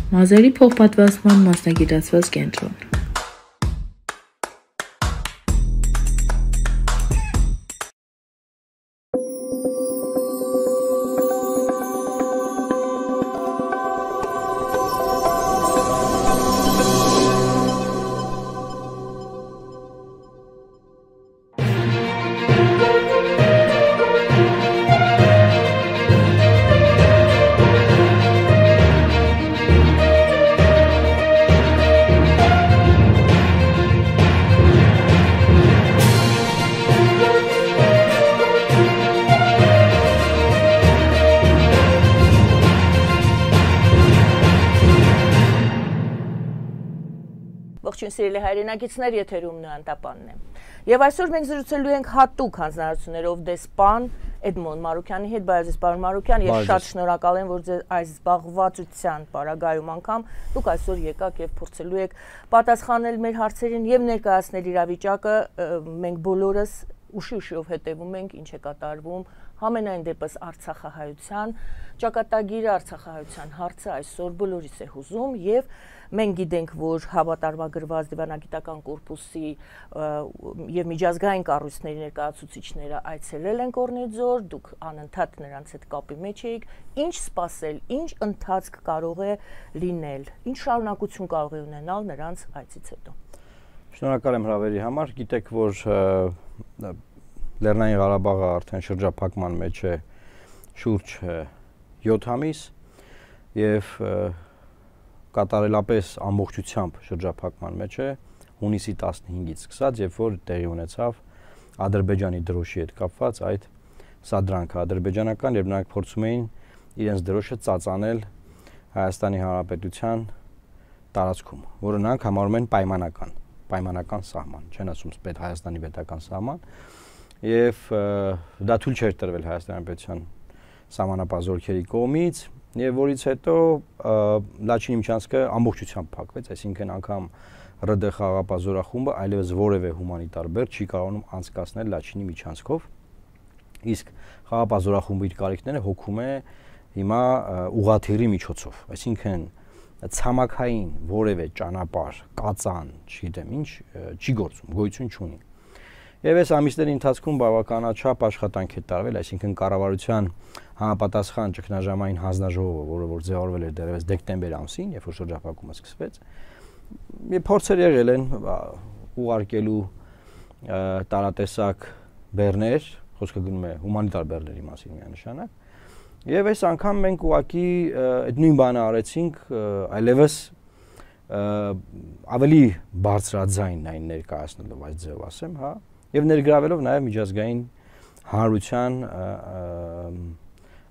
Մազերի փոխպատվաստման մասնագիտացված կենտրոն։ Ողջույն սիրելի հայրենակիցներ, եթերում Նոյանտապանն է։ Եվ այսօր մենք զրուցելու ենք հատուկ հանձնարարություններով դեսպան Էդմոն Մարուկյանի հետ, բայց պարոն Մարուկյան, ես շատ շնորհակալ եմ, որ ձեր այս զբաղվածության պարագայում անգամ դուք այսօր եկաք եւ փորձելու եք պատասխանել մեր հարցերին եւ ներկայացնել իրավիճակը։ Մենք բոլորս ուշի-ուշիով հետևում ենք, ինչ է կատարվում համենայն դեպս Արցախահայության ճակատագիրը, Արցախահայության հարցը այսօր բոլորիս է հուզում եւ մենք գիտենք, որ հավատարմագրված դիվանագիտական կորպուսի եւ միջազգային կառույցների ներկայացուցիչները այցելել են Կորնեձոր, դուք անընդհատ նրանց հետ կապի մեջ եք, ինչ սպասել, ինչ ընթացք կարող է լինել, ինչ շարունակություն կարող է ունենալ նրանց այցից հետո։ Շնորհակալ եմ հրավերի համար, գիտեք, որ Լեռնային Ղարաբաղը արդեն շրջափակման մեջ է շուրջ 7 ամիս եւ կատարելապես ամբողջությամբ շրջափակման մեջ է հունիսի 15-ից սկսած, երբ որ տեղի ունեցավ Ադրբեջանի դրոշի հետ կապված այդ սադրանքը ադրբեջանական, եւ նրանք փորձում էին իրենց դրոշը ծածանել Հայաստանի Հանրապետության տարածքում, որը նրանք համարում են պայմանական սահման, չեն ասում Հայաստանի պետական սահման, եւ դա թույլ չէր տրվել Հայաստանի Հանրապետության սահմանապահ կողմից, եւ որից հետո Լաչինի միջանցքը ամբողջությամբ փակվեց, այսինքն անգամ ՌԴ խաղաղապահ զորախումբը այլևս որևէ հումանիտար բեռ չի կարողանում անցկացնել Լաչինի միջանցքով, իսկ խաղաղապահ զորախումբը իր կարիքները հոգում է հիմա ուղղաթիռի միջոցով, այսինքն ցամաքային որևէ ճանապարհ, կածան, չգիտեմ ինչ, չի գործում, գոյություն չունի։ Եվ այս ամիսների ընթացքում բավականաչափ աշխատանք է տարվել, այսինքն կառավարության համապատասխան ճգնաժամային հանձնաժողովը, որը որ ձևավորվել էր դեռևս դեկտեմբեր ամսին, երբ որ շրջափակումը սկսվեց, եւ փորձեր եղել են ուղարկելու տարատեսակ բեռներ, խոսքը գնում է հումանիտար բեռների մասին միանշանակ, եւ այս անգամ մենք ուղղակի այդ նույն բանը արեցինք, այլևս ավելի բարձրաձայն այն ներկայացնելով այս ձևով ասեմ, հա, եւ ներգրավելով նաեւ միջազգային հանրության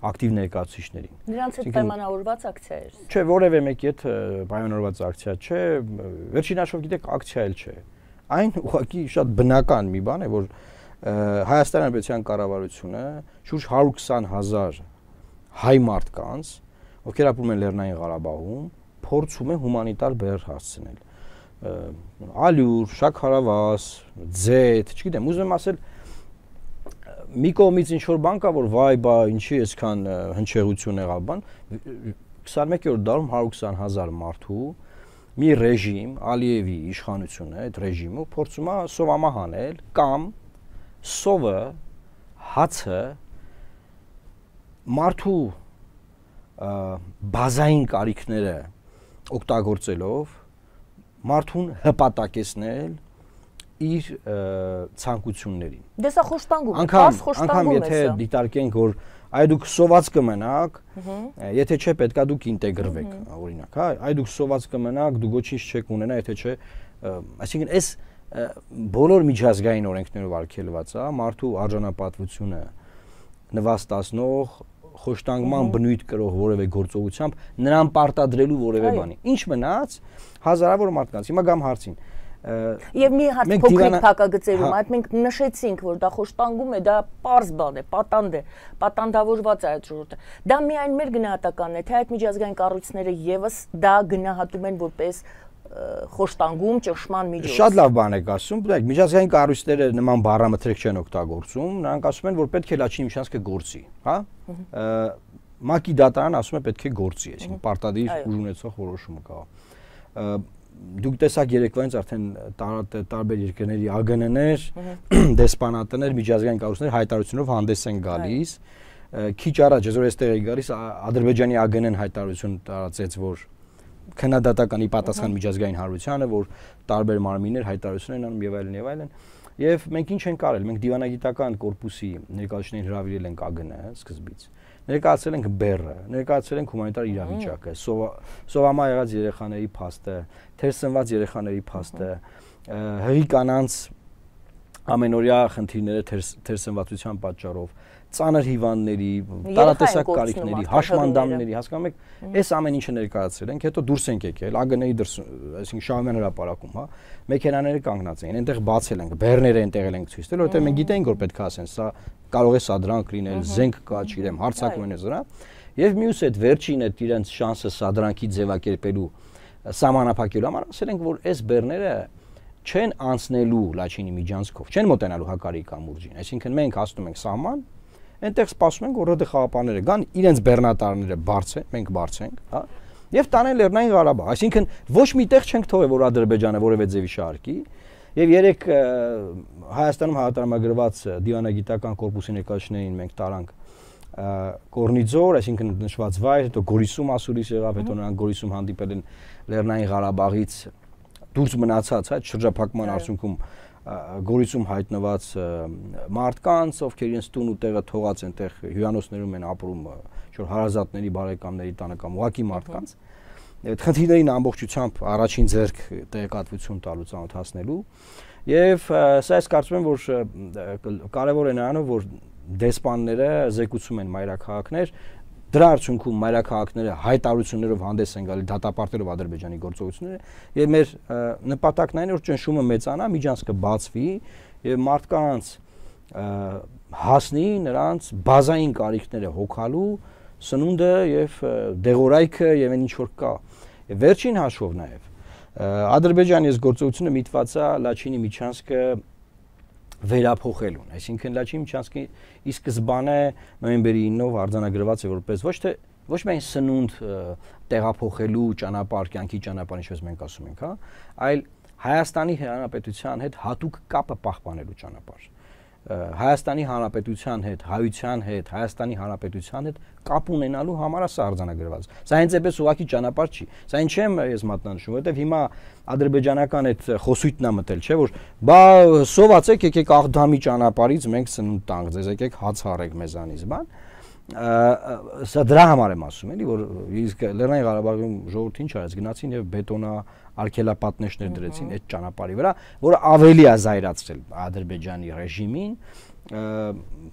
ակտիվ ներկայացուցիչներին։ Նրանց հետ պայմանավորված ակցիա էր։ Չէ, որևէ մեկի հետ պայմանավորված ակցիա չէ, վերջին հաշվով գիտեք, ակցիա էլ չէ։ Այն ուղղակի շատ բնական մի բան է, որ Հայաստանի Հանրապետության կառավարությունը շուրջ 120,000 հայ մարդկանց, ովքեր ապրում են Լեռնային Ղարաբաղում, փորձում է հումանիտար բեռ հասցնել։ Ալյուր, շաքարավազ, ձեթ, չգիտեմ, ուզում եմ ասել մի կողմից ինչ որ բան կա, որ վայ, բա ինչի այսքան հնչեղություն եղավ բան, 21-րդ դարում 120,000 մարդու մի ռեժիմ, Ալիևի իշխանությունը, այդ ռեժիմը փորձում է սովամահանել կամ սովը, հացը մարդու բազային կարիքները օգտագործելով մարդուն հպատակեցնել իր ցանկություններին։ Դե սա խոշտանգում է, անգամ եթե դիտարկենք, որ այ դուք սոված կմնաք, եթե չէ պետքա դուք ինտեգրվեք, օրինակ, հա, այ դուք սոված կմնաք, դուք ոչինչ չեք ունենա, եթե չէ, այսինքն այս բոլոր միջազգային օրենքներով արգելված է մարդու արժանապատվությունը նվաստացնող խոշտանգման բնույթ կրող որևէ գործողությամբ նրան պարտադրելու որևէ բանի։ Ինչ մնաց հազարավոր մարդկանց։ Հիմա գամ հարցին։ Եվ մի հատ փոքրիկ փակագծերում այդ մենք նշեցինք, որ դա խոշտանգում է, դա պարզ բան է, պատանդ է, պատանդավորված է այդ ժողովուրդը։ Դա միայն մեր գնահատականն է, թե այդ միջազգային կառույցները եւս դա գնահատում են որպես խոշտանգում, ճնշման միջոց։ Շատ լավ բան եք ասում, բայց միջազգային կառույցները նման բառամթերք չեն օգտագործում, նրանք ասում են, որ պետք է Լաչինի միջանցքը գործի, հա։ ՄԱԿ-ի դատարանը ասում է պետք է գործի, այսինքն պարտադիր ուժ ունեցող որոշումը կա։ Դուք տեսաք երեկվայից արդեն տարբեր երկրների ԱԳՆ-ներ, դեսպանատներ, միջազգային կառույցներ հայտարարությունով հանդես են գալիս։ Քիչ առաջ ես որ այստեղ էի գալիս, Ադրբեջանի ԱԳՆ-ն հայտարարություն տարածեց, որ քննադատականի պատասխան միջազգային հանրությանը, որ տարբեր մարմիններ հայտարարություն են անում եւ այլն եւ այլն։ Եվ մենք ինչ ենք արել, մենք դիվանագիտական կորպուսի ներկայացուցիչներին հրավիրել ենք ԱԳՆ-ը սկզբից։ Ներկայացրել ենք բեռը, ներկայացրել ենք հումանիտար իրավիճակը, սովամա եղած երեխաների փաստը, թերսնված երեխաների փաստը, հղի կանանց ամենօրյա խնդիրները թերսնվածության պատճառով, ծանր հիվանդների, տարատեսակ կարիքների, հաշմանդամների, հասկանում եք, այս ամեն ինչը ներկայացրել ենք, հետո դուրս ենք եկել, ԱԳՆ-ի դրս, այսինքն Շահումյան հրապարակում, հա, մեքենաները կանգնած էին, այնտեղ բացել ենք, բեռները այնտեղ ենք ցույց տվել, որովհետեւ մենք գիտենք, որ պետք է ասեն, սա կարող է սադրանք լինել, զենք կա, չգիտեմ, հարձակում են զրա, եւ մյուս այդ վերջին այդ իրենց շանսը սադրանքի ձևակերպելու սահմանափակելու համար ասել ենք, որ այս բեռները չեն անցնելու Լաչինի միջանցքով, չեն մոտենալու Հակարի կամուրջին, այսինքն մենք հասնում ենք սահման, այնտեղ սպասում ենք, որ ՌԴ խաղապանները գան, իրենց բեռնատարները բարձեն, մենք բարձենք, հա, եւ տանեն Լեռնային Ղարաբաղ, այսինքն ոչ մի տեղ չենք թողել, որ Ադրբեջանը որևէ ձևի շարքի, եւ երեք Հայաստանում հայտարարագրված դիվանագիտական կորպուսի ներկայացուցիչներին մենք տարանք Կորնիձոր, այսինքն նշված վայր, հետո Գորիսում ասուլիս եղավ, հետո նրանք Գորիսում հանդիպել են Լեռնային Ղարաբաղից դուրս մնացած, հա, շրջափակման արդյունքում Գորիսում հայտնված մարդկանց, ովքեր իրենց տուն ու տեղը թողած են, տեղ հյուրանոցներում են ապրում, որ հարազատների, բարեկամների տանը կամ ուղակի մարդկանց, այդ խնդիրներին ամբողջությամբ առաջին ձեռք տեղեկատվություն տալու, ծանոթացնելու, եւ սա ես կարծում եմ, որ կարեւոր է նրանով, որ դեսպանները զեկուցում են մայրաքաղաքներ, դրա արդյունքում մայրաքաղաքները հայտարարություններով հանդես են գալի դատապարտելով Ադրբեջանի գործողությունները եւ մեր նպատակն այն է որ ճնշումը մեծանա, միջանցքը բացվի եւ մարդկանց հասնի նրանց բազային կարիքները հոգալու, սնունդը եւ դեղորայքը եւ այն ինչ որ կա։ Վերջին հաշվով նաեւ Ադրբեջանի այս գործողությունը միտված է Լաչինի միջանցքը վերափոխելուն, այսինքն Լաչինի միջանցքի ի սկզբանե նոյեմբերի 9-ով արձանագրված է որպես ոչ միայն սնունդ տեղափոխելու ճանապարհ, կյանքի ճանապարհ, ինչպես մենք ասում ենք, հա, այլ Հայաստանի Հանրապետության հետ հատուկ կապը պահպանելու ճանապարհ։ Հայաստանի Հանրապետության հետ, հայության հետ, Հայաստանի Հանրապետության հետ կապ ունենալու համար է սա արձանագրված։ Սա հենց այնպես ուղղակի ճանապարհ չի։ Սա ինչ եմ ես մատնանշում, որովհետև հիմա ադրբեջանական այդ խոսույթն է մտել, չէ՞ որ բա սովածեք, եկեք Աղդամի ճանապարհից մենք սնունդ տանք, ձեզ եկեք հաց հարեք մեզանից, բան։ Սա դրա համար եմ ասում, էլի, որ իսկ Լեռնային Ղարաբաղում ժողովուրդը ինչ արեց, գնացին եւ բետոնա արգելապատնեշներ դրեցին այդ ճանապարհի վրա, որը ավելի է զայրացրել Ադրբեջանի ռեժիմին,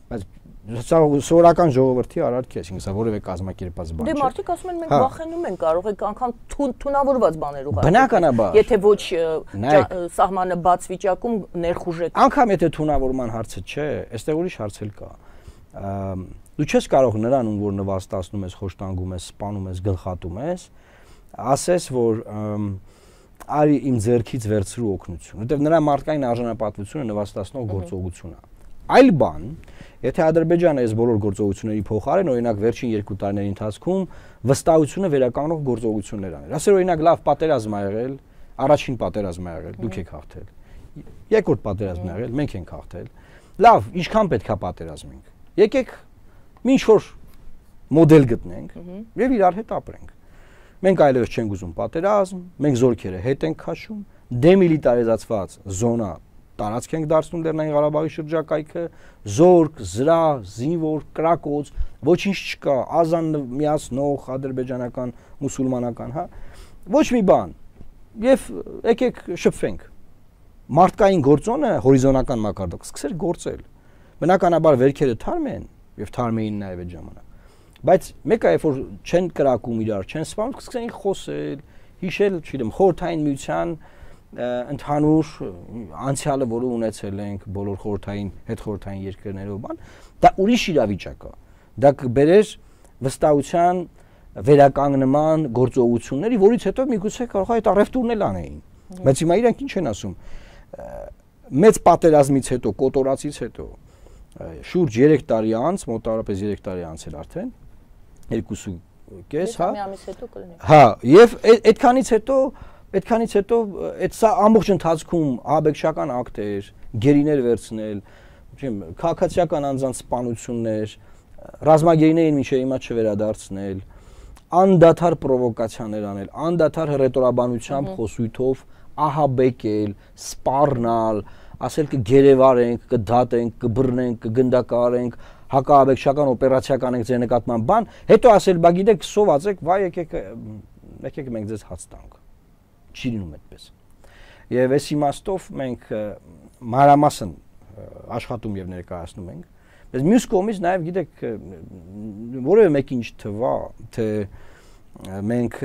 բայց սովորական ժողովրդի արարք է, այսինքն սա որևէ կազմակերպված բան չէ։ Դե մարդիկ ասում են մենք վախենում ենք, կարող եք անգամ թունավորված բաներ ուղարկել։ Բնականաբար։ Եթե ոչ սահմանը բաց վիճակում ներխուժեք։ Անգամ եթե թունավորման հարցը չէ, այստեղ ուրիշ հարց էլ կա։ Դու չես կարող նրան, ում որ նվաստացնում ես, խոշտանգում ես, սպանում ես, գլխատում ես, ասես որ արի իմ ձեռքից վերցրու օգնություն, որտեղ նրա մարդկային արժանապատվությունը նվաստացնող գործողություն է։ Այլ բան, եթե Ադրբեջանը այս բոլոր գործողությունների փոխարեն, օրինակ վերջին 2 տարիների ընթացքում վստահությունը վերականգնող գործողություններ աներ։ Ասեր օրինակ լավ պատերազմ ա եղել, առաջին պատերազմ ա եղել, դուք եք հաղթել։ Երկրորդ պատերազմն ա եղել, մենք ենք հաղթել։ Լավ, ինչքան պետք է պատերազմենք։ Եկեք ինչ որ մոդել գտնենք եւ իրար հետ ապրենք։ Մենք այլևս չենք ուզում պատերազմ, մենք զորքերը հետ ենք քաշում, դեմիլիտարիզացված զոնա տարածք ենք դարձնում Լեռնային Ղարաբաղի շրջակայքը, զորք, զրահ, զինվոր, կրակոց, ոչինչ չկա, ազան միացնող ադրբեջանական, մուսուլմանական, հա, ոչ մի բան։ Եվ եկեք շփվենք։ Մարդկային գործոնը հորիզոնական մակարդակ սկսեր գործել։ Բնականաբար վերքերը թարմ են եւ թարմ էին նաեւ այդ ժամանակ։ Բայց մեկը երբ որ չեն կրակում իրար, չեն սպանում, սկսեն խոսել, հիշել, չգիտեմ, խորհրդային միության ընդհանուր անցյալը, որը ունեցել ենք բոլոր խորհրդային, հետխորհրդային երկրներով, բան, դա ուրիշ իրավիճակ է։ Դա կբերեր վստահության վերականգնման գործողությունների, որից հետո միգուցե կարող է այդ առևտուրն էլ անեին։ Բայց հիմա իրանք ինչ են ասում։ Մեծ պատերազմից հետո, կոտորածից հետո շուրջ 3 տարի անց, մոտավորապես 3 տարի անց էր արդեն, 2.5, հա։ Մի ամիս հետո կլինի։ Հա, եւ այդքանից հետո այդ սա ամբողջ ընթացքում ահաբեկչական ակտեր, գերիներ վերցնել, չեմ, քաղաքացիական անձանց սպանություններ, ռազմագերիներին մինչև հիմա չվերադարձնել, անդադար պրովոկացիաներ անել, անդադար հռետորաբանությամբ խոսույթով ահաբեկել, սպառնալ, ասել կգերեվարենք, կդատենք, կբռնենք, կգնդակարենք, հակաահաբեկչական օպերացիա կանենք ձեր նկատմամբ բան, հետո ասել, բա գիտեք, սովածեք, վայ եկեք մենք ձեզ հաց տանք։ Չի լինում այդպես։ Եվ այս իմաստով մենք մանրամասն աշխատում եւ ներկայացնում ենք։ Բայց մյուս կողմից նաեւ գիտեք, որևէ մեկին չթվա, թե մենք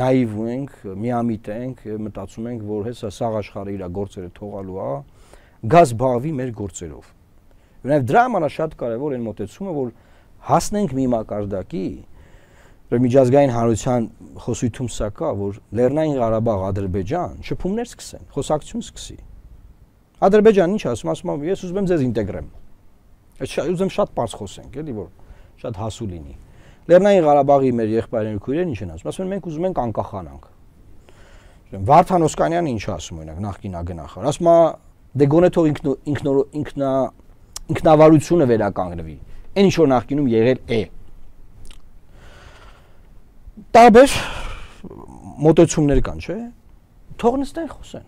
նաիվ ենք, միամիտ ենք, մտածում ենք, որ հեսա սաղ աշխարհը իր գործերը թողալու է, գազ բաղվի մեր գործերով։ Նաև դրա համար է շատ կարևոր այն մոտեցումը, որ հասնենք մի մակարդակի, որ միջազգային հանրության խոսույթում սա կա, որ Լեռնային Ղարաբաղ, Ադրբեջան շփումներ սկսեն, խոսակցություն սկսի։ Ադրբեջանն ինչ ասում, ասում է, ես ուզում եմ ձեզ ինտեգրեմ։ Ուզում շատ པարզ խոսենք, էլի որ շատ հասու լինի։ Լեռնային Ղարաբաղի մեր եղբայրները քույրերն ինչ են ասում, մենք ուզում ենք անկախանանք։ Վարդան Օսկանյանը ինչ ասում օրինակ նախկին ագնախար, ասում է դե գոնե թող ինքնավարությունը վերականգնվի։ Այն ինչ որ նախկինում եղել է։ Տարբեր մոտեցումներ կան, չէ՞։ Թող նստեն խոսեն։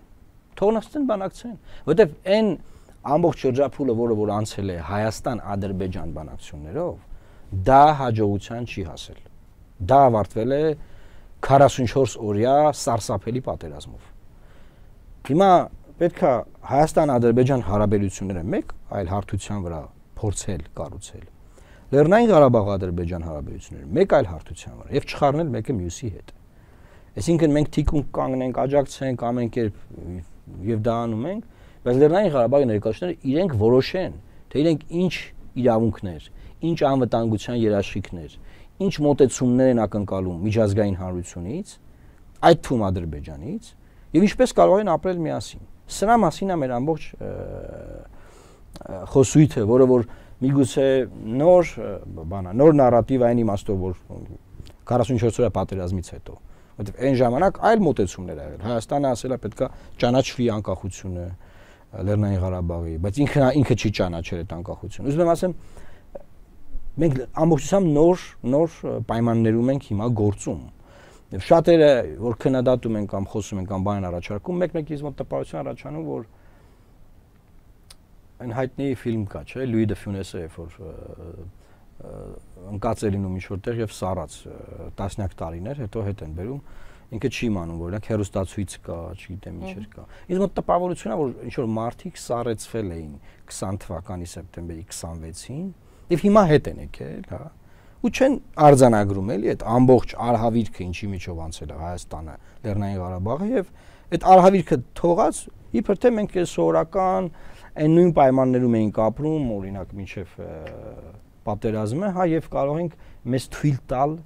Թող նստեն բանակցեն, որտեվ այն ամբողջ շրջափուլը, որ անցել է Հայաստան-Ադրբեջան բանակցություններով, դա հաջողության չի հասել։ Դա ավարտվել է 44 օրյա սարսափելի պատերազմով։ Հիմա պետք է Հայաստան-Ադրբեջան հարաբերությունները մեկ այլ հարթության վրա փորձել կառուցել։ Լեռնային Ղարաբաղ-Ադրբեջան հարաբերությունները մեկ այլ հարթության վրա եւ չխառնել մեկը մյուսի հետ։ Այսինքն մենք թիկունք կանգնենք, աջակցենք ամեն կերպ եւ դա անում ենք, բայց Լեռնային Ղարաբաղի ներկայացուցիչները իրենք որոշեն, թե իրենք ինչ իրավունքներ, ինչ անվտանգության երաշխիքներ, ինչ մոտեցումներ են ակնկալում միջազգային հանրությունից, այդ թվում Ադրբեջանից, եւ ինչպես կարող են ապրել միասին։ Սրա մասին է մեր ամբողջ խոսույթը, որը որ միգուցե նոր նարատիվ այն իմաստով, որ 44 օրյա պատերազմից հետո, որովհետեւ այն ժամանակ այլ մոտեցումներ ա եղել։ Հայաստանը ասել է պետքա ճանաչվի անկախությունը Լեռնային Ղարաբաղի, բայց ինքը չի ճանաչել այդ անկախությունը։ Ուզում եմ ասեմ, մենք ամբողջությամբ նոր պայմաններում ենք հիմա գործում։ Եվ շատերը որ քննադատում են կամ խոսում են կամ բան առաջարկում, մեկ-մեկից մոտ տպավորություն առաջանում, որ այն հայտնի ֆիլմ կա, չէ՞, Լուի դե Ֆյունեսը, որ ընկած է լինում ինչ-որտեղ եւ սառած տասնյակ տարիներ, հետո հետ են բերում, ինքը չի իմանում, որ օրինակ հերոստացույց կա, չգիտեմ ինչեր կա։ Իսկ մոտ տպավորությունն է, որ ինչ որ մարդիկ սառեցվել էին 20 թվականի սեպտեմբերի 26-ին եւ հիմա հետ են եկել, հա։ Ու չեն արձանագրում էլի այդ ամբողջ արհավիրքը ինչի միջով անցել է Հայաստանը, Լեռնային Ղարաբաղը եւ այդ արհավիրքը թողած իբր թե մենք սովորական այն նույն պայմաններում էինք ապրում, օրինակ մինչեւ պատերազմը, հա, եւ կարող ենք մեզ թույլ տալ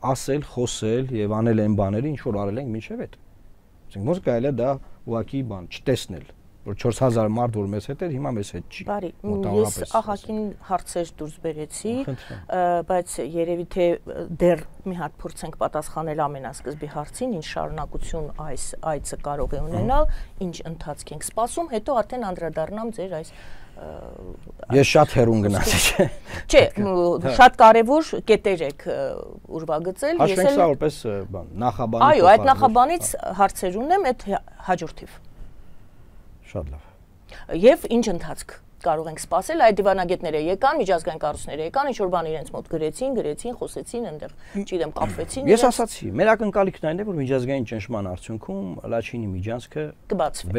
ասել, խոսել եւ անել այն բաները, ինչ որ արել ենք մինչեւ այդ։ Ասենք ոնց կարելի է դա ուղակի բան չտեսնել, որ 4000 մարդ որ մեզ հետ էր, հիմա մեզ հետ չի։ Բարի, ես ահագին հարցեր դուրս բերեցի, բայց երևի թե դեռ մի հատ փորձենք պատասխանել ամենասկզբի հարցին, ինչ շարունակություն այս այցը կարող է ունենալ, ինչ ընթացք ենք սպասում, հետո արդեն անդրադառնամ ձեր այս Ես շատ հեռուն գնացի, չէ։ Չէ, շատ կարևոր կետեր եք ուրվագծել, ես էլ որպես բան, նախաբանի։ Այո, այդ նախաբանից հարցեր ունեմ, այդ հաջորդիվ։ Շատ լավ։ Եվ ինչ ընթացք կարող ենք սպասել, այդ դիվանագետները եկան, միջազգային կառույցները եկան, ինչ որ բան իրենց մոտ գրեցին, խոսեցին, այնտեղ, չգիտեմ, կապվեցին։ Ես ասացի, մեր ակնկալիքն այն է, որ միջազգային ճնշման արդյունքում Լաչինի Միջանցքը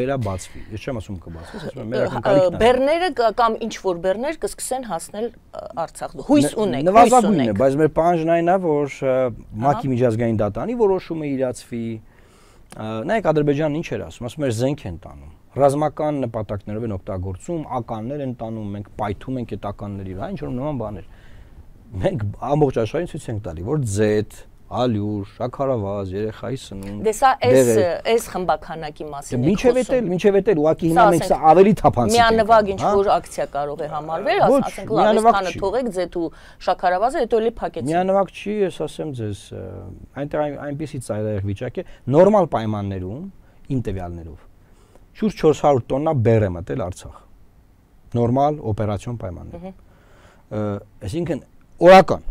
վերաբացվի։ Ես չեմ ասում կբացվի, ասում եմ մեր ակնկալիքն է։ Բեռները կամ ինչ որ բեռներ կսկսեն հասնել Արցախ։ Հույս ունեք, նվազագույնն է, բայց մեր պահանջն այն է, որ ՄԱԿ-ի միջազգային դատանի որոշումը իրացվի։ Նայեք Ադրբեջանն ինչ էր ասում, ասում էր զենք են տանում։ Ռազմական նպատակներով են օգտագործում, ականներ են տանում, մենք պայթում ենք այդ ականների վրա, ինչ որ նման բաներ։ Մենք ամբողջ աշխարհին ցույց ենք տալի, որ Z ալյուր, շաքարավազ, երեխայի սնունդ։ Դե սա այս խմբականակի մասին է։ Մինչև էդ ուղղակի հիմա մենք սա ավելի թափանցիկ ենք։ Միանվագ ինչ որ ակցիա կարող է համարվել, ասենք լավ, այսքանը թողեք ձեթ ու շաքարավազը, հետո էլի փակեցին։ Միանվագ չի, ես ասեմ ձեզ, այնտեղ այնպեսի ծայրահեղ վիճակ է, նորմալ պայմաններում, իմ տվյալներով, շուրջ 400 տոննա բեռ է մտել Արցախ։ Նորմալ օպերացիոն պայմաններում։ Այսինքն օրական,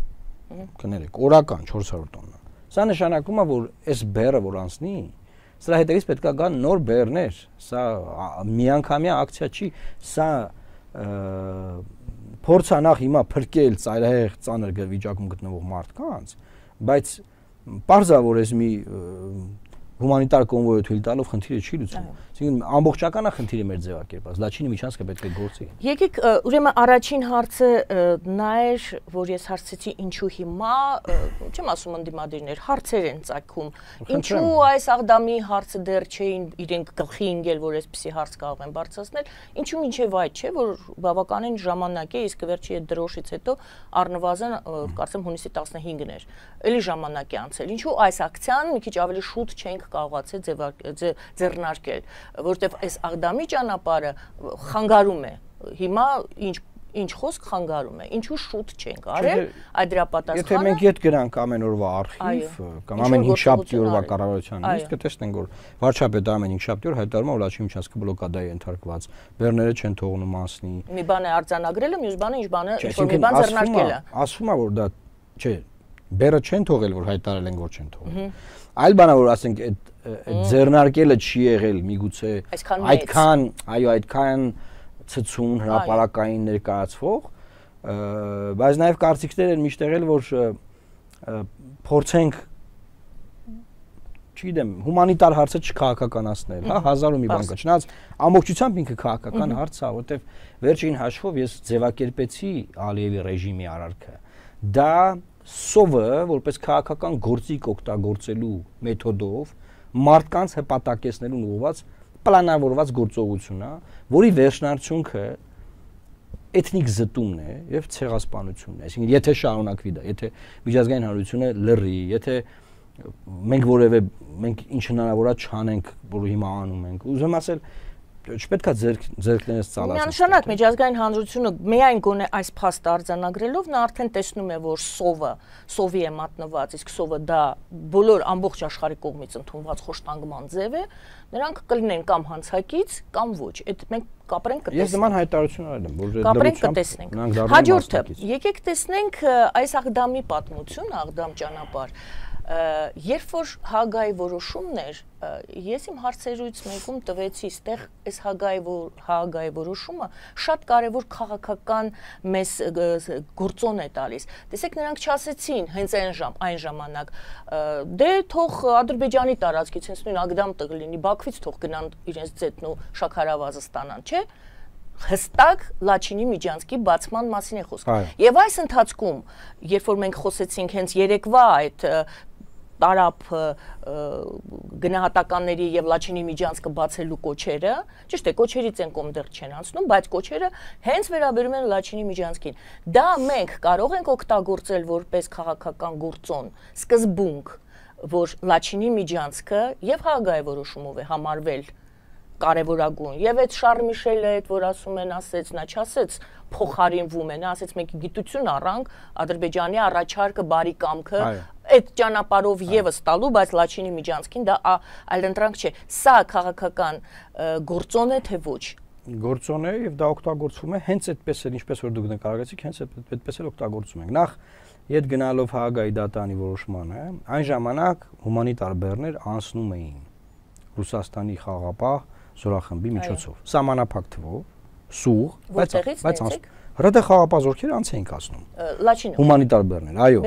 կներեք, օրական 400 տոննա։ Սա նշանակում է, որ այս բեռը որ անցնի, սրա հետևից պետք է գան նոր բեռներ, սա միանգամյա ակցիա չի, սա փորձ է նախ հիմա փրկել ծայրահեղ ծանր վիճակում գտնվող մարդկանց, բայց պարզ է, որ այս մի հումանիտար կոնվոյը թույլ տալով խնդիրը չի լուծվում։ Այսինքն ամբողջական է խնդիրը մեր ձևակերպած, Լաչինի միջանցքը պետք է գործի։ Եկեք ուրեմն առաջին հարցը նա էր, որ ես հարցեցի ինչու հիմա, չեմ ասում ընդդիմադիրներ, հարցեր են ծագում։ Ինչու այս աղդամի հարցը դեռ չէին իրենք գլխի ընկել, որ այսպիսի հարց կարող են բարձրացնել, ինչու մինչև այդ չէ, որ բավականին ժամանակ է, իսկ վերջի այդ դրոշից հետո առնվազն կարծեմ հունիսի 15-ն էր։ Էլի ժամանակ է անցել։ Ինչու այս ակցիան մի քիչ ավելի շուտ չենք կարողացել ձեռնարկել, որտեվ այս աղդամի ճանապարհը խանգարում է։ Հիմա ինչ խոսք խանգարում է։ Ինչու շուտ չենք արել այդ դրա պատասխանը։ Եթե մենք իդ գրանք ամեն օրվա արխիվ կամ ամեն 5 շաբթի օրվա կառավարության նիստ, կտեսնենք, որ վարչապետը ամեն 5 շաբթի օր հայտարարում է, որ Լաչինի միջանցքը բլոկադայի ենթարկված, բեռները չեն թողնում անցնի։ Մի բան է արձանագրելը, մյուս բանը ինչ բան է, ինչ-որ մի բան ձեռնարկելը։ Ասվում է, որ դա չէ, բեռը չեն թողել, որ հայտարարել են, որ չեն թողել։ Այլ բան է, որ ասենք այդ ձեռնարկելը չի եղել միգուցե այդքան ցցուն հրապարակային ներկայացվող, բայց նաև կարծիքներ են միշտ եղել, որ փորձենք չգիտեմ, հումանիտար հարցը չքաղաքականացնել, հա, հազար ու մի բան կա, չնայած ամբողջությամբ ինքը քաղաքական հարց է, որտեվ վերջին հաշվով ես ձևակերպեցի Ալիևի ռեժիմի արարքը։ Դա սովը, որպես քաղաքական գործիք օգտագործելու մեթոդով մարդկանց հպատակեցնելուն ուղղված պլանավորված գործողություն է, որի վերջնարդյունքը էթնիկ զտումն է եւ ցեղասպանությունն է։ Այսինքն, եթե շարունակվի դա, եթե միջազգային հանրությունը լռի, եթե մենք ինչ հնարավոր է չանենք, որ հիմա անում ենք, ուզում ասել, չպետք է ձեռքներս ծալած։ Միանշանակ միջազգային հանրությունը միայն գոնե այս փաստը արձանագրելով նա արդեն տեսնում է, որ սովի է մատնված, իսկ սովը դա բոլոր ամբողջ աշխարհի կողմից ընդունված խոշտանգման ձև է, նրանք կլինեն կամ հանցակից, կամ ոչ։ Այդ մենք կապրենք կտեսնենք։ Ես նման հայտարարություն արել եմ, որ կապրենք կտեսնենք։ Հաջորդը, եկեք տեսնենք այս աղդամի պատմություն, աղդամ ճանապարհ։ Երբ որ Հագայի որոշումն էր, ես իմ հարցերուց մեկում տվեցի, այստեղ այս Հագայի որոշումը շատ կարևոր քաղաքական մեզ գործոն է տալիս։ Տեսեք, նրանք չասեցին հենց այն ժամանակ, դե թող Ադրբեջանի տարածքից հենց նույն Աղդամ տեղ լինի, Բաքվից թող գնան իրենց ձեթն ու շաքարավազը ստանան, չէ՞։ Հստակ Լաչինի միջանցքի բացման մասին է խոսքը։ Եվ այս ընթացքում, երբ որ մենք խոսեցինք հենց երեկվա այդ տարապ գնահատականների եւ Լաչինի միջանցքը բացելու կոչերը, ճիշտ է, կոչերից են կողմ դեռ չեն անցնում, բայց կոչերը հենց վերաբերում են Լաչինի միջանցքին։ Դա մենք կարող ենք օգտագործել որպես քաղաքական գործոն, սկզբունք, որ Լաչինի միջանցքը եւ Հագայի որոշումով է համարվել կարևորագույն։ Եվ այդ Շարլ Միշելը այդ որ ասում են, ասեց, նա չասեց փոխարինվում է, նա ասեց մենք գիտություն առանք Ադրբեջանի առաջարկը, բարի կամքը այդ ճանապարհով եւս տալու, բայց Լաչինի միջանցքին դա այլընտրանք չէ։ Սա քաղաքական գործոն է թե ոչ։ Գործոն է եւ դա օգտագործվում է հենց այդպես էլ, ինչպես որ դուք նկարագրեցիք, հենց այդպես էլ օգտագործում ենք։ Նախ իդ գնալով Հագայի դատանի որոշմանը, այն ժամանակ հումանիտար բեռներ անցնում էին Ռուսաստանի խաղապահ զորախմբի միջոցով։ Սահմանափակ թվով, սուղ, բայց ՌԴ խաղապահ զորքերը անց էին կացնում։ Լաչինը։ Հումանիտար բեռներ, այո։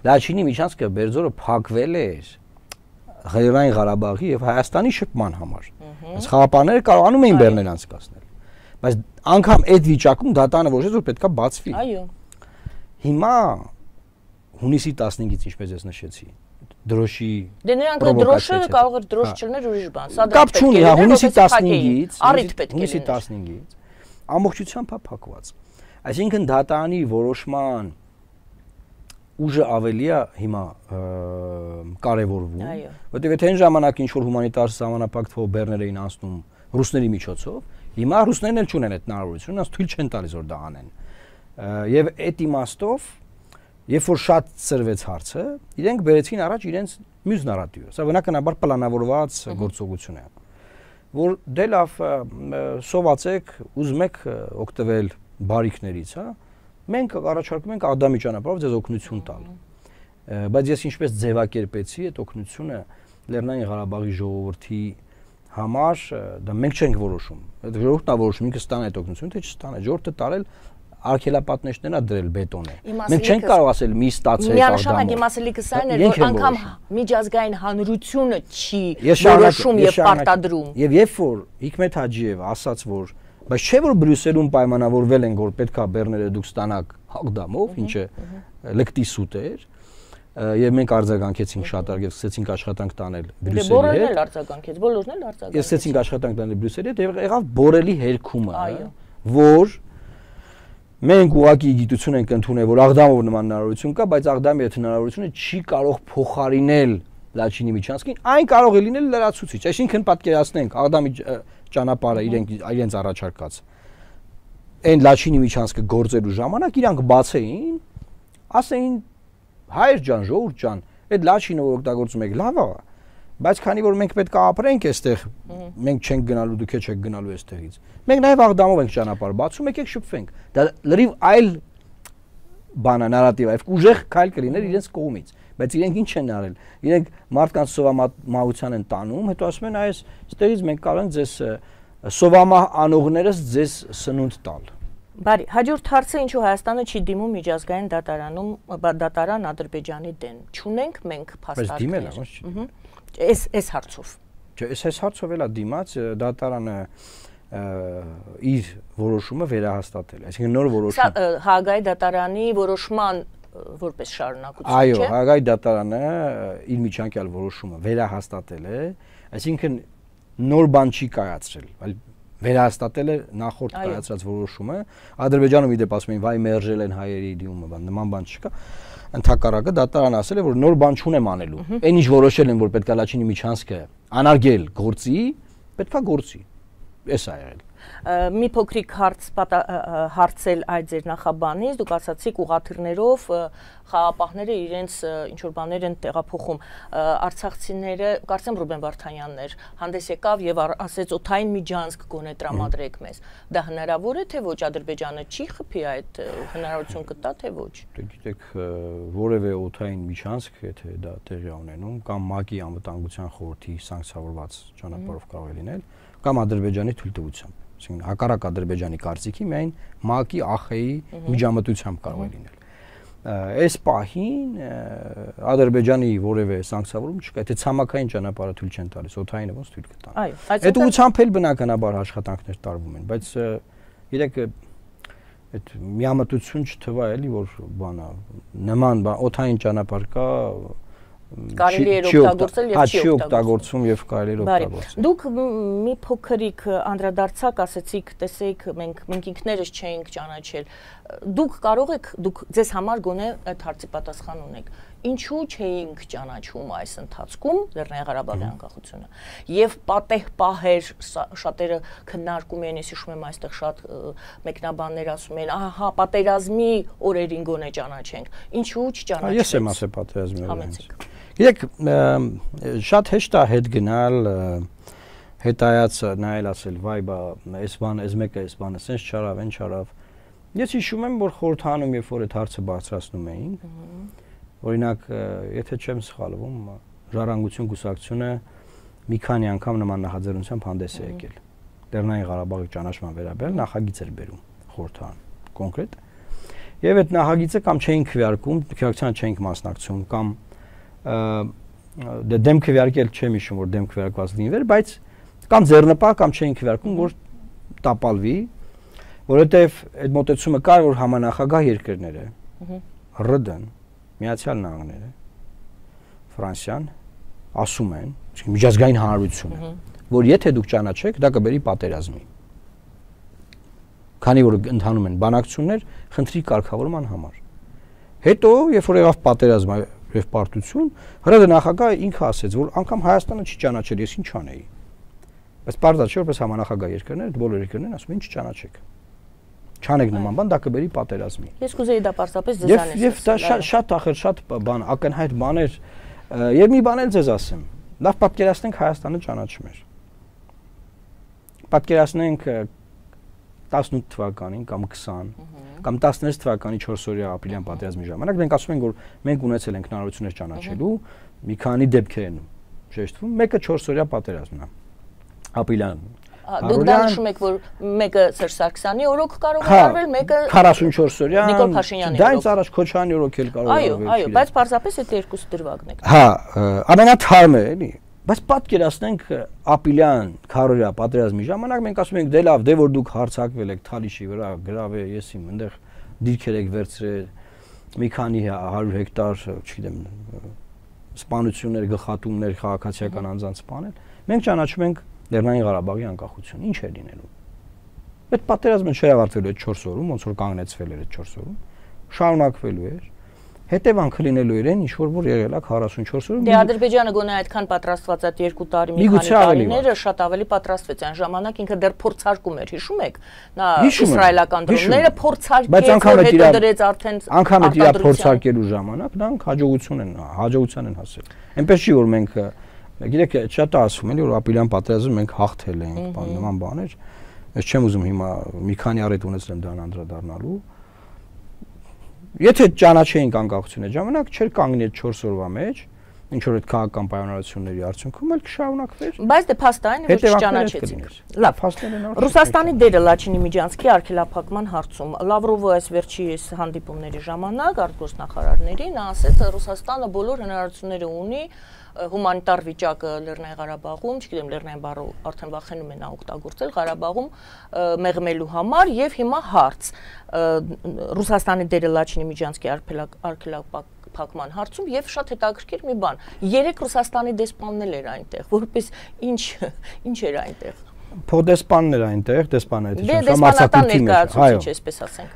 Լաչինի միջանցքը Բերձորը փակվել էր Ղարաբաղի Ղարաբաղի եւ Հայաստանի շփման համար։ Այս խաղապահները կարողանում էին բեռներ անցկացնել։ Բայց անգամ այդ վիճակում դատանը որոշեց, որ պետքա բացվի։ Այո։ Հիմա հունիսի 15-ից, ինչպես ես նշեցի, դրոշի Դե նրանք դրոշը կարող էր դրոշ չլներ ուրիշ բան։ Սա կապ չունի, հա, հունիսի 15-ից ամբողջությամբ է փակված։ Այսինքն դատանի որոշման ուժը ավելի է հիմա կարևորվում, որտեղ եթե այն ժամանակ ինչ որ հումանիտար սահմանափակ թվով բեռներ էին անցնում ռուսների միջոցով, հիմա ռուսներն էլ չունեն այդ հնարավորությունը, նրանց թույլ չեն տալիս որ դա անեն։ Եվ այդ իմաստով, երբ որ շատ ծրվեց հարցը, իրենք բերեցին առաջ իրենց մյուս նարատիվը։ Սա բնականաբար պլանավորված գործողություն է, որ դե լավ սովածեք, ուզում եք օգտվել բարիքներից, հա, մենք առաջարկում ենք Ադամի ճանապարհով ձեզ օգնություն տալ։ Բայց ես ինչպես ձևակերպեցի այդ օգնությունը Լեռնային Ղարաբաղի ժողովրդի համար, դա մենք չենք որոշում։ Այդ ժողովուրդն է որոշում ինքը ստանա այդ օգնությունը, թե չստանա։ Ժողովուրդը տարել արգելապատնեշներն է դրել բետոնե։ Մենք չենք կարող ասել մի ստացեք Ադամով։ Իմ ասելիքս այն է, որ անգամ միջազգային հանրությունը չի որոշում եւ պարտադրում։ Եվ երբ որ Հիկմետ Հաջիևը ասաց, որ բայց չէ որ Բրյուսելում պայմանավորվել են, որ պետքա բեռները դուք ստանաք Ադամով, ինչը լկտի սուտ էր, եւ մենք արձագանքեցինք շատ արագ եւ սկսեցինք աշխատանք տանել Բրյուսելի հետ։ Բոլորն էլ արձագանքեց, բոլորն էլ արձագանքեցին։ Ես սկսեցինք աշխատանք տանել Բրյուսելի հետ եւ եղավ բորելի հերքումը, որ մենք ուղղակի գիտություն ենք ընդունել, որ Աղդամով նման հնարավորություն կա, բայց Աղդամի այդ հնարավորությունը չի կարող փոխարինել Լաչինի միջանցքին, այն կարող է լինել լրացուցիչ։ Այսինքն պատկերացնենք Աղդամի ճանապարհը իրենց առաջարկած այն Լաչինի միջանցքը գործելու ժամանակ իրանք բացեին, ասեին հայր ջան, ժողովուրդ ջան, այդ Լաչինը որ օգտագործում եք լավ է, բայց քանի որ մենք պետք է ապրենք այստեղ, մենք չենք գնալու, դուք չեք գնալու այստեղից։ Մենք նաև Աղդամով ենք ճանապարհ բացում, եկեք շփվենք։ Դա լրիվ այլ բան է, նարատիվ է, ուժեղ քայլ կլիներ իրենց կողմից, բայց իրենք ինչ են արել։ Իրենք մարդկանց սովամահության են տանում, հետո ասում են այս այստեղից մենք կարող ենք ձեզ սովամահ անողներս ձեզ սնունդ տալ։ Բարի, հաջորդ հարցը ինչու Հայաստանը չի դիմում միջազգային դատարան Ադրբեջանի դեմ։ Չունենք մենք փաստարկներ։ Այս հարցով։ Չէ, այս հարցով էլա դիմաց դատարանը իր որոշումը վերահաստատել է, այսինքն նոր որոշում։ Սա Հաագայի դատարանի որոշման որպես շարունակություն չէ։ Այո, Հաագայի դատարանը իր միջանկյալ որոշումը վերահաստատել է, այսինքն նոր բան չի կայացրել, այլ վերահաստատել է նախորդ կայացրած որոշումը։ Ադրբեջանում իդեպ ասում են վայ մերժել են հայերի դիմումը, բան նման բան չկա։ Ընդհակառակը դատարանը ասել է, որ նոր բան չունեմ անելու։ Այն ինչ որոշել են, որ պետքա Լաչինի միջանցքը անարգել գործի, պետքա գործի։ Էս է եղել։ Մի փոքրիկ հարցել այդ ձեր նախաբանից, դուք ասացիք ուղաթիռներով խաղապահները իրենց ինչ որ բաներ են տեղափոխում։ Արցախցիները, կարծեմ Ռուբեն Վարդանյանն էր, հանդես եկավ եւ ասեց օթային միջանցք գոնե տրամադրեք մեզ։ Դա հնարավոր է թե ոչ, Ադրբեջանը չի խփի այդ հնարավորություն կտա թե ոչ։ Գիտեք, որևէ օթային միջանցք, եթե դա տեղի ունենում, կամ ՄԱԿ-ի անվտանգության խորհրդի սանկցիավորված ճանապարհով կարող է լինել, կամ Ադրբեջանի թույլտվությամբ, այսինքն հակառակ Ադրբեջանի կարծիքի միայն ՄԱԿ-ի ԱԽ-ի միջամտությամբ կարող է լինել։ Այս պահին Ադրբեջանի որևէ սանկցիավորում չկա, եթե ցամաքային ճանապարհը թույլ չեն տալիս, օդայինը ոնց թույլ կտան։ Այո, այդ ուղղությամբ էլ բնականաբար աշխատանքներ տարվում են, բայց իրեք այդ միամտություն չթվա էլի, որ բանա նման բան օդային ճանապարհ կա կարելի է օգտագործել եւ չի օգտագործում եւ կարելի է օգտագործել։ Դուք մի փոքրիկ անդրադարձակ ասեցիք, տեսեք, մենք ինքներս չէինք ճանաչել։ Դուք կարող եք, դուք ձեզ համար գոնե այդ հարցի պատասխան ունեք։ Ինչու չէինք ճանաչում այս ընթացքում Լեռնային Ղարաբաղի անկախությունը։ Եվ պատեհ պահեր շատերը քննարկում են, ես հիշում եմ այստեղ շատ մեկնաբաններ ասում են, ահա պատերազմի օրերին գոնե ճանաչենք։ Ինչու չճանաչվեց։ Ես եմ ասել պատերազմի օրերին։ Գիտեք, շատ հեշտ է հետ գնալ, հետայաց նայել ասել, վայ բա, այս բանը, այս մեկը այս բանը սենց չարավ, այն չարավ։ Ես հիշում եմ, որ խորհրդանում երբ որ այդ հարցը բարձրացնում էինք, օրինակ, եթե չեմ սխալվում, Ժառանգություն կուսակցությունը մի քանի անգամ նման նախաձեռնությամբ հանդես է եկել։ Լեռնային Ղարաբաղի ճանաչման վերաբերյալ նախագիծ էր բերում խորհրդարան, կոնկրետ։ Եվ այդ նախագիծը կամ չէին քվեարկում, քվեարկության չէինք մասնակցում, կամ դեմ քվեարկել չեմ հիշում, որ դեմ քվեարկված լինվեր, բայց կամ ձեռնպահ կամ չէին քվեարկում, որ տապալվի, որովհետև այդ մոտեցումը կար, որ համանախագահ երկրները, ՌԴ-ն, Միացյալ Նահանգները, Ֆրանսիան ասում են, միջազգային հանրությունը, որ եթե դուք ճանաչեք, դա կբերի պատերազմի։ Քանի որ ընթանում են բանակցություններ խնդրի կարգավորման համար։ Հետո, երբ որ եղավ պատերազմը, եւ պարտություն, հրադը նախագահը ինքը ասեց, որ անգամ Հայաստանը չի ճանաչել, ես ինչ անեի։ Բայց բարձր չէ, որպես համանախագահ երկրներ, բոլոր երկրներն ասում են չճանաչեք։ Չանեք նման բան, դա կբերի պատերազմի։ Ես կուզեի դա պարզապես ձեզանից։ Եվ դա շատ ախր շատ բան, ակնհայտ բաներ, եւ մի բան էլ ձեզ ասեմ։ Լավ պատկերացնենք Հայաստանը ճանաչում էր։ Պատկերացնենք 18 թվականին կամ 20 կամ 16 թվականի 4-օրյա ապրիլյան պատերազմի ժամանակ մենք ասում ենք, որ մենք ունեցել ենք հնարավորություններ ճանաչելու մի քանի դեպքեր են շեշտվում, մեկը 4-օրյա պատերազմն է։ Ապրիլյան Դուք դա նշում եք, որ մեկը Սերժ Սարգսյանի օրոք կարող է արվել, մեկը 44-օրյա Նիկոլ Փաշինյանի օրոք։ Դա ինձ առաջ Քոչարյանի օրոք էլ կարող է արվել։ Այո, բայց պարզապես այդ երկուսը դրվագն է։ Հա, ամենաթարմը էլի։ Բայց պատկերացնենք ապրիլյան 4-օրյա պատերազմի ժամանակ մենք ասում ենք դե լավ, դե որ դուք հարձակվել եք Թալիշի վրա, գրավ է, ես իմ այնտեղ դիրքեր եք վերցրել, մի քանի 100 հեկտար, չգիտեմ, սպանություններ, գլխատումներ, քաղաքացիական անձանց սպանել։ Մենք ճանաչում ենք Լեռնային Ղարաբաղի անկախություն, ինչ է լինելու։ Այդ պատերազմը չի ավարտվելու այդ 4 օրում, ոնց որ կանգնեցվել էր այդ 4 օրում, շարունակվելու էր։ Հետևանքը լինելու էր այն, ինչ որ եղել է 44 օրում։ Դե Ադրբեջանը գոնե այդքան պատրաստված այդ 2 տարի մի քանի տարիները շատ ավելի պատրաստվեց այն ժամանակ ինքը դեռ փորձարկում էր, հիշում եք։ Նա իսրայելական դրոնները փորձարկեց, հետո դրեց արդեն անգամ այդ իր փորձարկելու ժամանակ նրանք հաջողության են հասել։ Այնպես չի որ մենք Գիտեք, շատ ասում են, որ ապրիլյան պատերազմը մենք հաղթել ենք, նման բաներ։ Ես չեմ ուզում հիմա մի քանի առիթ ունեցնեմ դրան անդրադառնալու։ Եթե ճանաչեինք անկախությունը ժամանակ, չէր կանգնի այդ 4 օրվա մեջ, ինչ որ այդ քաղաքական պայմանավորությունների արդյունքում էլ կշարունակվեր։ Բայց դե փաստը այն է, որ չճանաչեցինք։ Լավ, Ռուսաստանի դերը Լաչինի միջանցքի արգելափակման հարցում։ Լավրովը այս վերջի հանդիպումների ժամանակ արտգործնախարարների նա ասեց, Ռուսաստանը բոլոր հնարավորությունները ունի հումանիտար վիճակը Լեռնային Ղարաբաղում, չգիտեմ, Լեռնային բառը արդեն վախենում են օգտագործել Ղարաբաղում մեղմելու համար եւ հիմա հարց Ռուսաստանի դերը Լաչինի միջանցքի արգելափակման հարցում եւ շատ հետաքրքիր մի բան 3 Ռուսաստանի դեսպաններ էր այնտեղ, որպես ինչ էր այնտեղ Փոդեսպաններ այնտեղ, դեսպաններ, դեսպանատան ներկայացուցիչ, այսպես ասենք։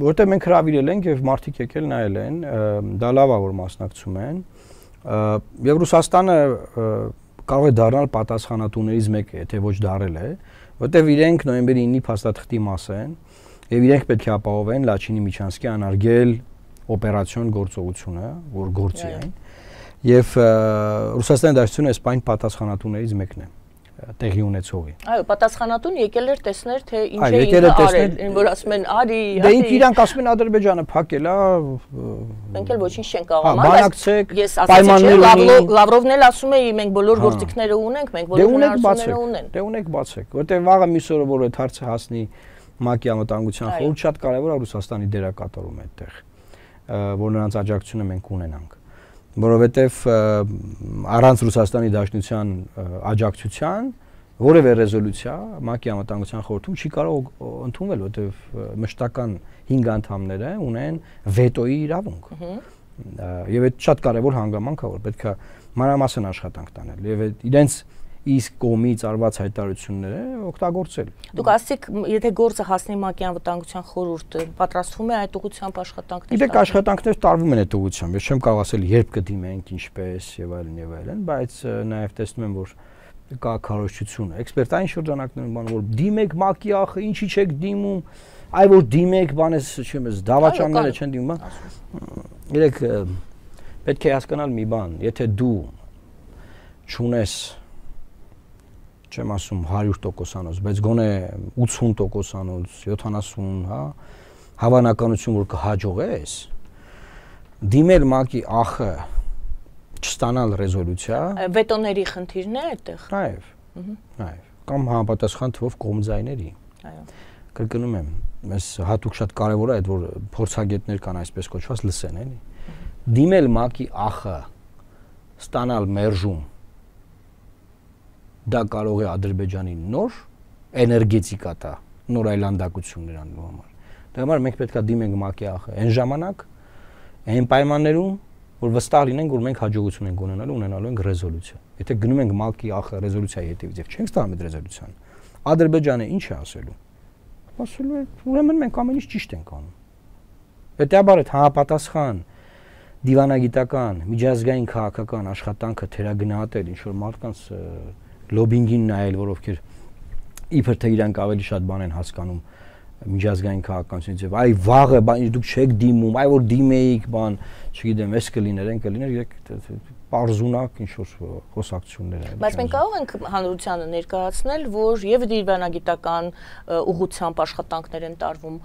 Որտեղ մենք հրավիրել ենք եւ մարդիկ եկել նայել են, դա լավ է որ մասնակցում են։ Եվ Ռուսաստանը կարող է դառնալ պատասխանատուներից մեկը, եթե ոչ դարել է, որտեղ իրենք նոյեմբերի 9-ի փաստաթղթի մաս են եւ իրենք պետք է ապահովեն Լաչինի միջանցքի անարգել օպերացիոն գործողությունը, որ գործի այն։ Եւ Ռուսաստանի Դաշնությունը սպայն պատասխանատուներից մեկն է տեղի ունեցողի։ Այո, պատասխանատուն եկել էր տեսներ, թե ինչ է ինքը արել, որ ասում են արի, դե ինքը իրանք ասում են Ադրբեջանը փակել է, մենք էլ ոչինչ չենք կարող անել, ես ասացի, Լավրովն էլ ասում է, մենք բոլոր գործիքները ունենք, մենք բոլոր հնարավորությունները ունենք։ Դե ունեք բացեք, որտեղ վաղը մյուս օրը որ այդ հարցը հասնի ՄԱԿ-ի անվտանգության խորհուրդ, շատ կարևոր է Ռուսաստանի դերակատարումը այդտեղ, որ նրանց աջակցությունը մենք ունենանք։ Որովհետև առանց Ռուսաստանի Դաշնության աջակցության որևէ ռեզոլյուցիա ՄԱԿ-ի անվտանգության խորհրդում չի կարող ընդունվել, որովհետև մշտական 5 անդամները ունեն վետոյի իրավունք։ Եվ այդ շատ կարևոր հանգամանք է, որ պետք է մանրամասն աշխատանք տանել եւ իրենց իսկ կողմից արված հայտարարությունները օգտագործել։ Դուք ասացիք, եթե գործը հասնի ՄԱԿ-ի անվտանգության խորհուրդը, պատրաստվում է այդ ուղղությամբ աշխատանքներ։ Իդեպ աշխատանքներ տարվում են այդ ուղղությամբ։ Ես չեմ կարող ասել երբ կդիմենք, ինչպես եւ այլն, բայց նաեւ տեսնում եմ, որ կա քարոզչություն։ Էքսպերտային շրջանակներում բան որ դիմեք ՄԱԿ-ի ախը, ինչի չեք դիմում, այ որ դիմեք, բանես, չեմ ես, դավաճանները չեն դիմում, իրեք պետք է հասկանալ մի բան, եթե դու չունես չեմ ասում 100%, բայց գոնե 80%, 70, հա, հավանականություն որ կհաջողես դիմել ՄԱԿ-ի ախը չստանալ ռեզոլյուցիա, վետոների խնդիրն է այդտեղ։ Այո, կամ համապատասխան թվով կողմձայների։ Այո։ Կրկնում եմ, մեզ հատուկ շատ կարևոր է այդ որ փորձագետներ կան այսպես կոչված լսեն, էլի։ Դիմել ՄԱԿ-ի ախը ստանալ մերժում դա կարող է Ադրբեջանի նոր էներգետիկա տա, նոր այլանդակություններ անելու համար։ Դա համար մենք պետք է դիմենք ՄԱԿ-ի ախը այն ժամանակ, այն պայմաններում, որ վստահ լինենք, որ մենք հաջողություն ենք ունենալու ենք ռեզոլյուցիա։ Եթե գնում ենք ՄԱԿ-ի ախը ռեզոլյուցիայի հետևից եւ չենք ստանում այդ ռեզոլյուցիան, Ադրբեջանը ինչ է ասելու։ Ասելու է, ուրեմն մենք ամեն ինչ ճիշտ ենք անում։ Հետեւաբար այդ համապատասխան դիվանագիտական, միջազգային քաղաքական աշխատանքը թերագնահատել, ինչ որ մարդկանց լոբինգին նայել, որ ովքեր իբր թե իրանք ավելի շատ բան են հասկանում միջազգային քաղաքականությունից եւ այ վաղը բան դուք չեք դիմում, այ որ դիմեիք բան, չգիտեմ, էս կլիներ, այն կլիներ, եք պարզունակ ինչ որ խոսակցություններ են։ Բայց մենք կարող ենք հանրությանը ներկայացնել, որ եւ դիվանագիտական ուղղությամբ աշխատանքներ են տարվում,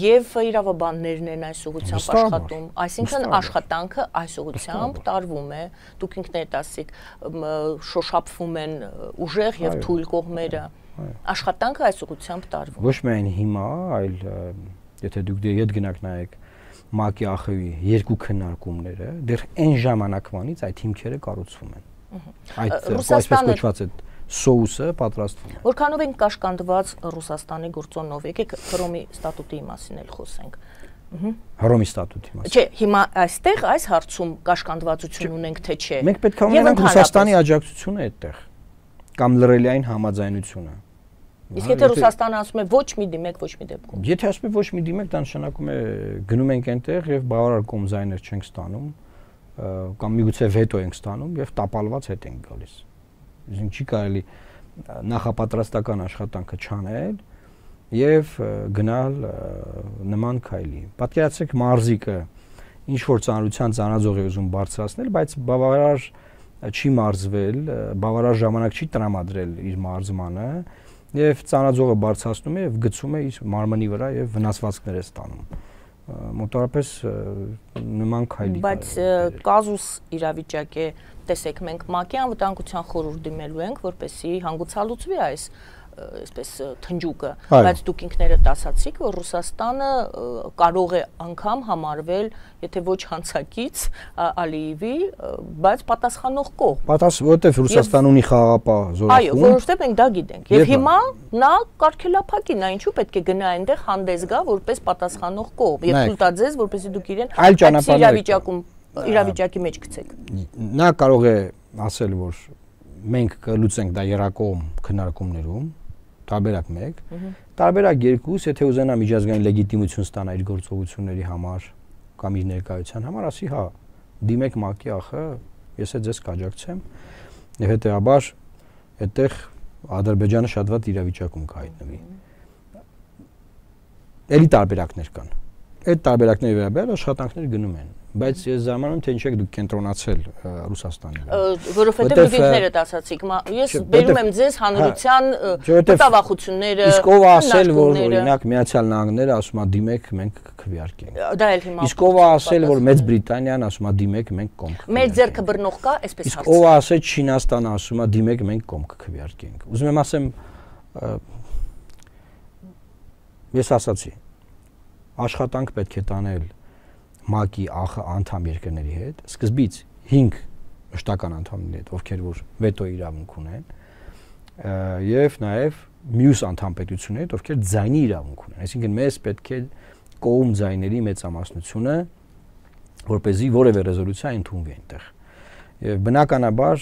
եւ իրավաբաններն են այս ուղղությամբ աշխատում, այսինքն աշխատանքը այս ուղղությամբ տարվում է, դուք ինքներդ ասիք, շոշափվում են ուժեղ եւ թույլ կողմերը, աշխատանքը այս ուղղությամբ տարվում։ Ոչ միայն հիմա, այլ եթե դուք ետ գնաք նայեք ՄԱԿ-ի ԱԽ-ի երկու քննարկումները, դեռ այն ժամանակվանից այդ հիմքերը կառուցվում են։ Այդ այսպես կոչված է սոուսը պատրաստվում է։ Որքանով են կաշկանդված Ռուսաստանի գործոնով, եկեք Հռոմի ստատուտի մասին էլ խոսենք։ Հռոմի ստատուտի մասին։ Չէ, հիմա այստեղ այս հարցում կաշկանդվածություն ունենք թե չէ։ Մենք պետք է ունենանք Ռուսաստանի աջակցությունը այդտեղ կամ լրելիային համաձայնությունը։ Իսկ եթե Ռուսաստանը ասում է ոչ մի դիմեք, ոչ մի դեպքում։ Եթե ասում է ոչ մի դիմեք, դա նշանակում է գնում ենք այնտեղ եւ բավարար կոմզայներ չենք ստանում, կամ միգուցե վետո ենք ստանում եւ տապալված հետ ենք գալիս։ Իսկ չի կարելի նախապատրաստական աշխատանքը չանել եւ գնալ նման քայլի։ Պատկերացրեք մարզիկը ինչ որ ծանրության ծանրաձող է ուզում բարձրացնել, բայց բավարար չի մարզվել, բավարար ժամանակ չի տրամադրել իր մարզմանը եւ ծանրաձողը բարձրացնում է եւ գցում է իր մարմնի վրա եւ վնասվածքներ է ստանում։ Մոտավորապես նման քայլի։ Բայց կազուս իրավիճակ է, տեսեք, մենք ՄԱԿ-ի անվտանգության խորհուրդ դիմելու ենք, որպեսզի հանգուցալուծվի այս այսպես թնջուկը, բայց դուք ինքներդ ասացիք, որ Ռուսաստանը կարող է անգամ համարվել, եթե ոչ հանցակից Ալիևի, բայց պատասխանող կողմ։ Որովհետև Ռուսաստանը ունի խաղաղապահ զորախումբ։ Այո, որովհետև մենք դա գիտենք։ Եվ հիմա նա կարգելափակի, նա ինչու պետք է գնա այնտեղ հանդես գա որպես պատասխանող կողմ եւ թույլ տա ձեզ, որպեսզի դուք իրեն իրավիճակի մեջ գցեք։ Նա կարող է ասել, որ մենք կլուծենք դա երակողմ քննարկումներում, տարբերակ 1, տարբերակ 2, եթե ուզենա միջազգային լեգիտիմություն ստանա իր գործողությունների համար կամ իր ներկայության համար, ասի հա, դիմեք ՄԱԿ-ի ԱԽ, ես ձեզ կաջակցեմ, եւ հետեւաբար այդտեղ Ադրբեջանը շատ վատ իրավիճակում կհայտնվի։ Էլի տարբերակներ կան։ Այդ տարբերակների վերաբերյալ աշխատանքներ գնում են, բայց ես զարմանում թե ինչ եք դուք կենտրոնացել Ռուսաստանի վրա։ Որովհետև դուք ինքներդ ասացիք, ես բերում եմ ձեզ հանրության մտավախությունները։ Իսկ ով ասել, որ օրինակ Միացյալ Նահանգները ասում է դիմեք, մենք քվեարկենք։ Դա էլ հիմա։ Իսկ ով ասել, որ Մեծ Բրիտանիան ասում է դիմեք, մենք կողմ։ Մեր ձեռքը բռնող կա, այսպես Իսկ ով ասել Չինաստանը ասում է դիմեք, մենք կողմ կքվեարկենք։ Ուզում եմ ասեմ, ես ասացի, աշխատանք պետք է տանել ՄԱԿ-ի ԱԽ անդամ երկրների հետ, սկզբից 5 մշտական անդամների հետ, ովքեր որ վետո իրավունք ունեն, եւ նաեւ մյուս անդամ պետությունների հետ, ովքեր ձայնի իրավունք ունեն։ Այսինքն մեզ պետք է կողմ ձայների մեծամասնությունը, որպեսզի որևէ ռեզոլյուցիա ընդունվի այնտեղ։ Եվ բնականաբար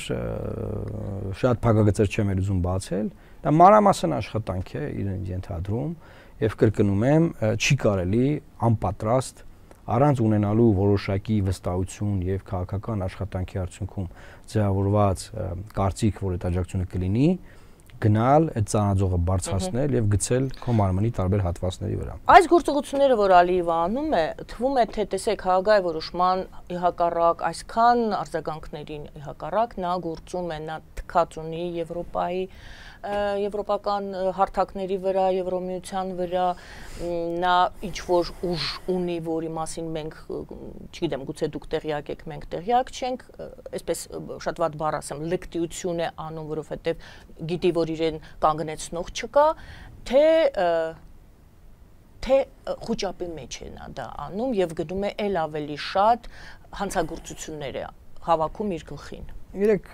շատ փակագծեր չեմ ուզում բացել, դա մանրամասն աշխատանք է իրեն ենթադրում եւ կրկնում եմ, չի կարելի անպատրաստ առանց ունենալու որոշակի վստահություն եւ քաղաքական աշխատանքի արդյունքում ձևավորված կարծիք, որ այդ աջակցությունը կլինի, գնալ այդ ծանրաձողը բարձրացնել եւ գցել քո մարմնի տարբեր հատվածների վրա։ Այս գործողությունները, որ Ալիևը անում է, թվում է թե տեսեք հագայ որոշման իհակառակ այսքան արձագանքներին իհակառակ նա գործում է, նա թքած ունի Եվրոպայի եվրոպական հարթակների վրա, Եվրոմիության վրա, նա ինչ որ ուժ ունի, որի մասին մենք, չգիտեմ, գուցե դուք տեղյակ եք, մենք տեղյակ չենք, այսպես շատ վատ բառ ասեմ, լկտիություն է անում, որովհետև գիտի, որ իրեն կանգնեցնող չկա, թե խոճապի մեջ է նա դա անում եւ գնում է ել ավելի շատ հանցագործություններ է հավաքում իր գլխին։ Իրեք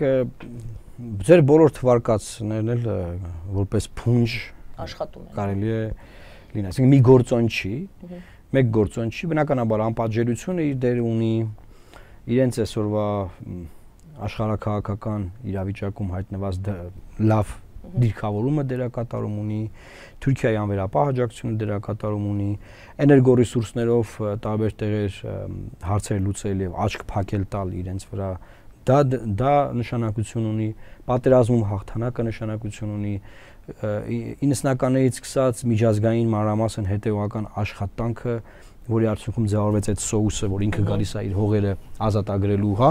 ձեր բոլոր թվարկածներն էլ որպես փունջ աշխատում են։ Կարելի է լինել, այսինքն մի գործոն չի, մեկ գործոն չի, բնականաբար անպատժելիությունը իր դեր ունի, իրենց այսօրվա աշխարհակաղակական իրավիճակում հայտնված լավ դիրքավորումը դերակատարում ունի, Թուրքիայի անվերապահ աջակցությունը դերակատարում ունի, էներգորեսուրսներով տարբեր տեղեր հարցեր լուծել եւ աչք փակել տալ իրենց վրա, դա նշանակություն ունի, պատերազմում հաղթանակը նշանակություն ունի, 90-ականներից սկսած միջազգային մանրամասն հետեւական աշխատանքը, որի արդյունքում ձևավորվեց այդ սոուսը, որ ինքը գալիս է իր հողերը ազատագրելու, հա,